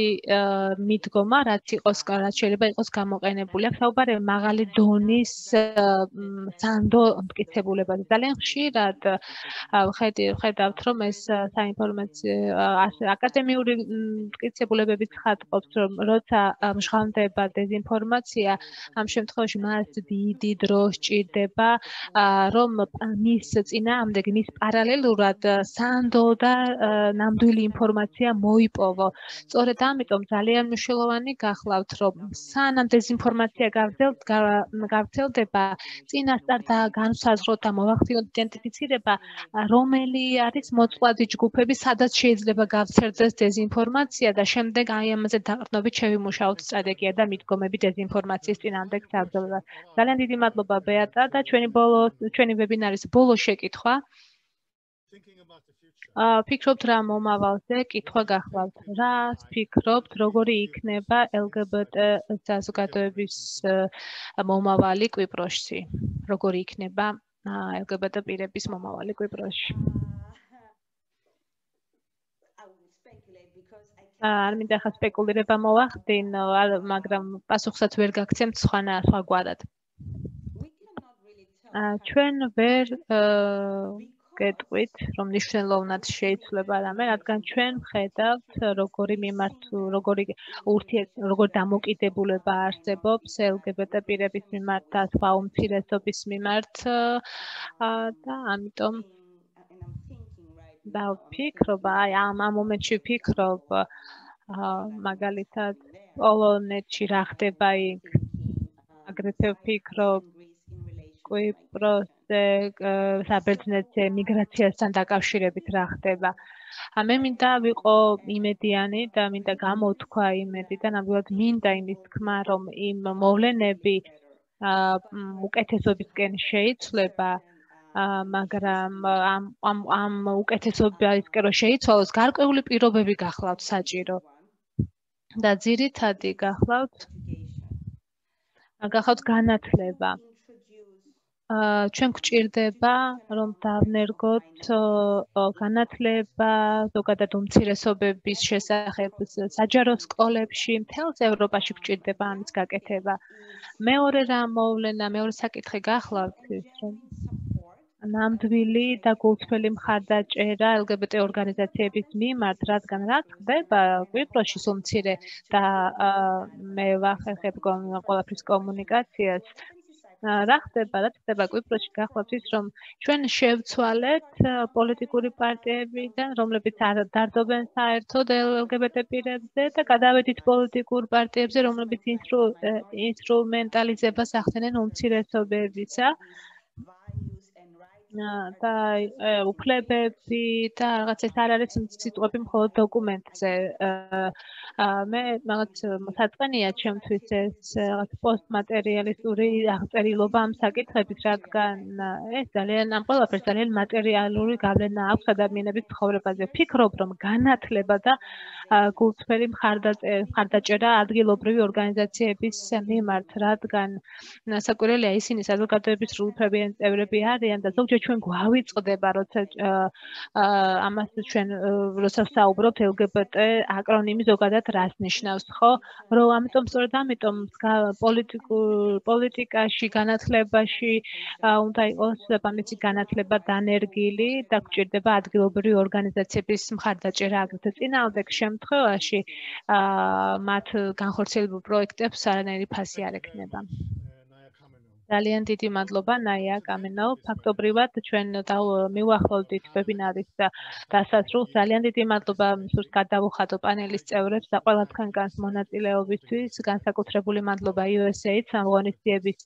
მიდგომა, რაც იყოს, რაც შეიძლება იყოს გამოყენებული. აქ საუბარია მაღალი დონის სანდო მტკიცებულებაზე. ძალიან ხშირად ვხედავთ, რომ ეს საინფორმაციო აკადემიური მტკიცებულებებით ხატყობს, რომ როცა მჟღავდება დეზინფორმაცია, ამ შემთხვევაში მას დიდი დრო სჭირდება, რომ მის წინააღმდეგ, მის პარალელურად სანდო და ნამდვილი ინფორმაცია მოიპოვო. სწორედ ამიტომ ძალიან მნიშვნელოვანი გახლავთ, რომ სანამ დეზინფორმაცია გავრცელდება, წინასწარ და განსაზღვროთ და მოვახდინოთ იდენტიფიცირება, რომელი არის მოწყვლადი ჯგუფები, სადაც შეიძლება გავრცელდეს დეზინფორმაცია და შემდეგ აი ამაზე დაყრდნობით შევიმუშაოთ სტრატეგია და მიდგომები დეზინფორმაციის წინააღმდეგ საბრძოლველად. ძალიან დიდი მადლობა ბეატა და ჩვენი ბოლო ჩვენი ვებინარის ბოლო შეკითხვა. ფიქრობთ რა მომავალზე, კითხვა გახლავთ. რა ფიქრობთ, როგორი იქნება ელგებეტე საზოგადოების მომავალი კვიპროსში? როგორი იქნება ელგებეტე პირების მომავალი კვიპროსში? არ მინდა ხა სპეკულირება მოვახდინო, მაგრამ პასუხსაც ვერ გაგცემთ სხვა სხვაგვარად. ჩვენ ვერ გეტყვით, რომ მნიშვნელოვნად შეიცვლება რამე, რადგან ჩვენ ვხედავთ, როგორი მიმართ, როგორი ურთიერთ, როგორ დამოკიდებულება არსებობს ელ გი ბი ტე პირების მიმართ და სხვა უმცირესობის მიმართ და ამიტომ დავფიქრობ, აი ამ მომენტში ვფიქრობ, მაგალითად, პოლონეთში რა ხდება იქ, აგრეთვე ვფიქრობ, კვიპროსზე, საბერძნეთზე მიგრაციასთან დაკავშირებით რა ხდება. მე მინდა ვიყო იმედიანი და მინდა გამოთქვა იმედი და ნამდვილად მინდა იმის თქმა, რომ იმ მოვლენები უკეთესობისკენ შეიცვლება, მაგრამ ამ ამ ამ უკეთესობისკენ რომ შეიცვალოს, გარკვეული პირობები გახლავთ საჭირო. და ძირითადი გახლავთ გახლავთ განათლება. ჩვენ გვჭირდება, რომ დავნერგოთ განათლება, ზოგადად უმცირესობების შესახებ საჯარო სკოლებში, მთელს ევროპაში გვჭირდება ამის გაკეთება. მეორე რამ მოვლენა, მეორე საკითხი გახლავთ ის, რომ ნამდვილი და გულწრფელი მხარდაჭერა ელ გი ბი ტე ორგანიზაციების მიმართ, რადგან რაც ხდება კვიპროსში სულ მცირე და მე ვახერხებ ყველაფრის კომუნიკაციას. რა ხდება, რა ხდება კვიპროსში გახლავთ ის, რომ ჩვენ შევცვალეთ პოლიტიკური პარტიებიდან, რომლებიც არ დარდობენ საერთოდ ელ გი ბი ტე პირებზე და გადავედით პოლიტიკურ პარტიებზე, რომლებიც ინსტრუმენტალიზებას ახდენენ უმცირესობებისა და უფლებები და რაღაც ეს არ არის სიტყვები მხოლოდ დოკუმენტზე. მე რაღაც საწყენია ჩემთვის ეს რაღაც პოსტმატერიალისტური აღწერილობა ამ საკითხების, რადგან ეს ძალიან ამ ყველაფერს ძალიან მატერიალური გავლენა აქვს ადამიანების ცხოვრებაზე. ვფიქრობ, რომ განათლება და გულწრფელი მხარდაჭერა ადგილობრივი ორგანიზაციების მიმართ, რადგან საკვირველია ისინი საზოგადოების სრულუფლებიანი წევრები არიან და ზოგჯერ ჩვენ გვავიწყდება, როცა ამას ჩვენ როცა ვსაუბრობთ ელ გი ბი ტე აკრონიმი ზოგადად რას ნიშნავს, ხო? რომ ამიტომ სწორედ ამიტომ პოლიტიკაში, განათლებაში უნდა იყოს ამისი განათლება დანერგილი და გვჭირდება ადგილობრივი ორგანიზაციების მხარდაჭერა აგრეთვე წინააღმდეგ შემთხვევაში მათ განხორციელებულ პროექტებს არანაირი ფასი არ ექნება. ძალიან დიდი მადლობა ნაია კამენო. ფაქტობრივად ჩვენ მივახლოვდით ვებინარის დასასრულს. ძალიან დიდი მადლობა მსურს გადავუხადო პანელის წევრებს და ყველა თქვენგანს მონაწილეობისთვის. განსაკუთრებული მადლობა იუ ეს ეიდ-ს ამ ღონისძიების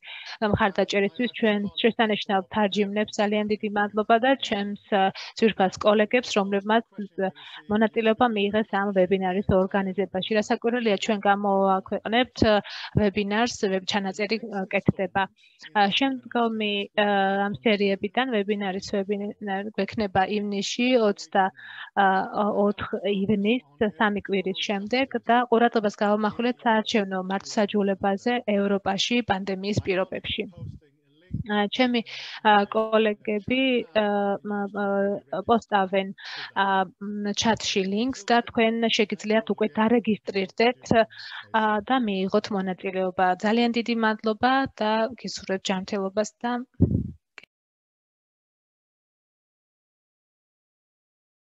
მხარდაჭერისთვის. ჩვენ შესანიშნავ თარჯიმნებს ძალიან დიდი მადლობა და ჩემს ძვირფას კოლეგებს, რომლებმაც მონაწილეობა მიიღეს ამ ვებინარის ორგანიზებაში. რასაკვირველია, ჩვენ გამოვაქვეყნებთ ვებინარს, ჩანაწერი კეთდება. შემდგომი ამ სერიებიდან ვებინარის ვებინარი გვექნება ივნისში ოცდაოთხ ივნისს სამი კვირის შემდეგ და ყურადღებას გავამახვილეთ საარჩევნო მართლმსაჯულებაზე ევროპაში პანდემიის პირობებში. ჩემი კოლეგები პოსტავენ ჩატში ლინკს და თქვენ შეგიძლიათ უკვე დარეგისტრირდეთ და მიიღოთ მონაწილეობა. ძალიან დიდი მადლობა და გისურვებთ ჯანმრთელობას და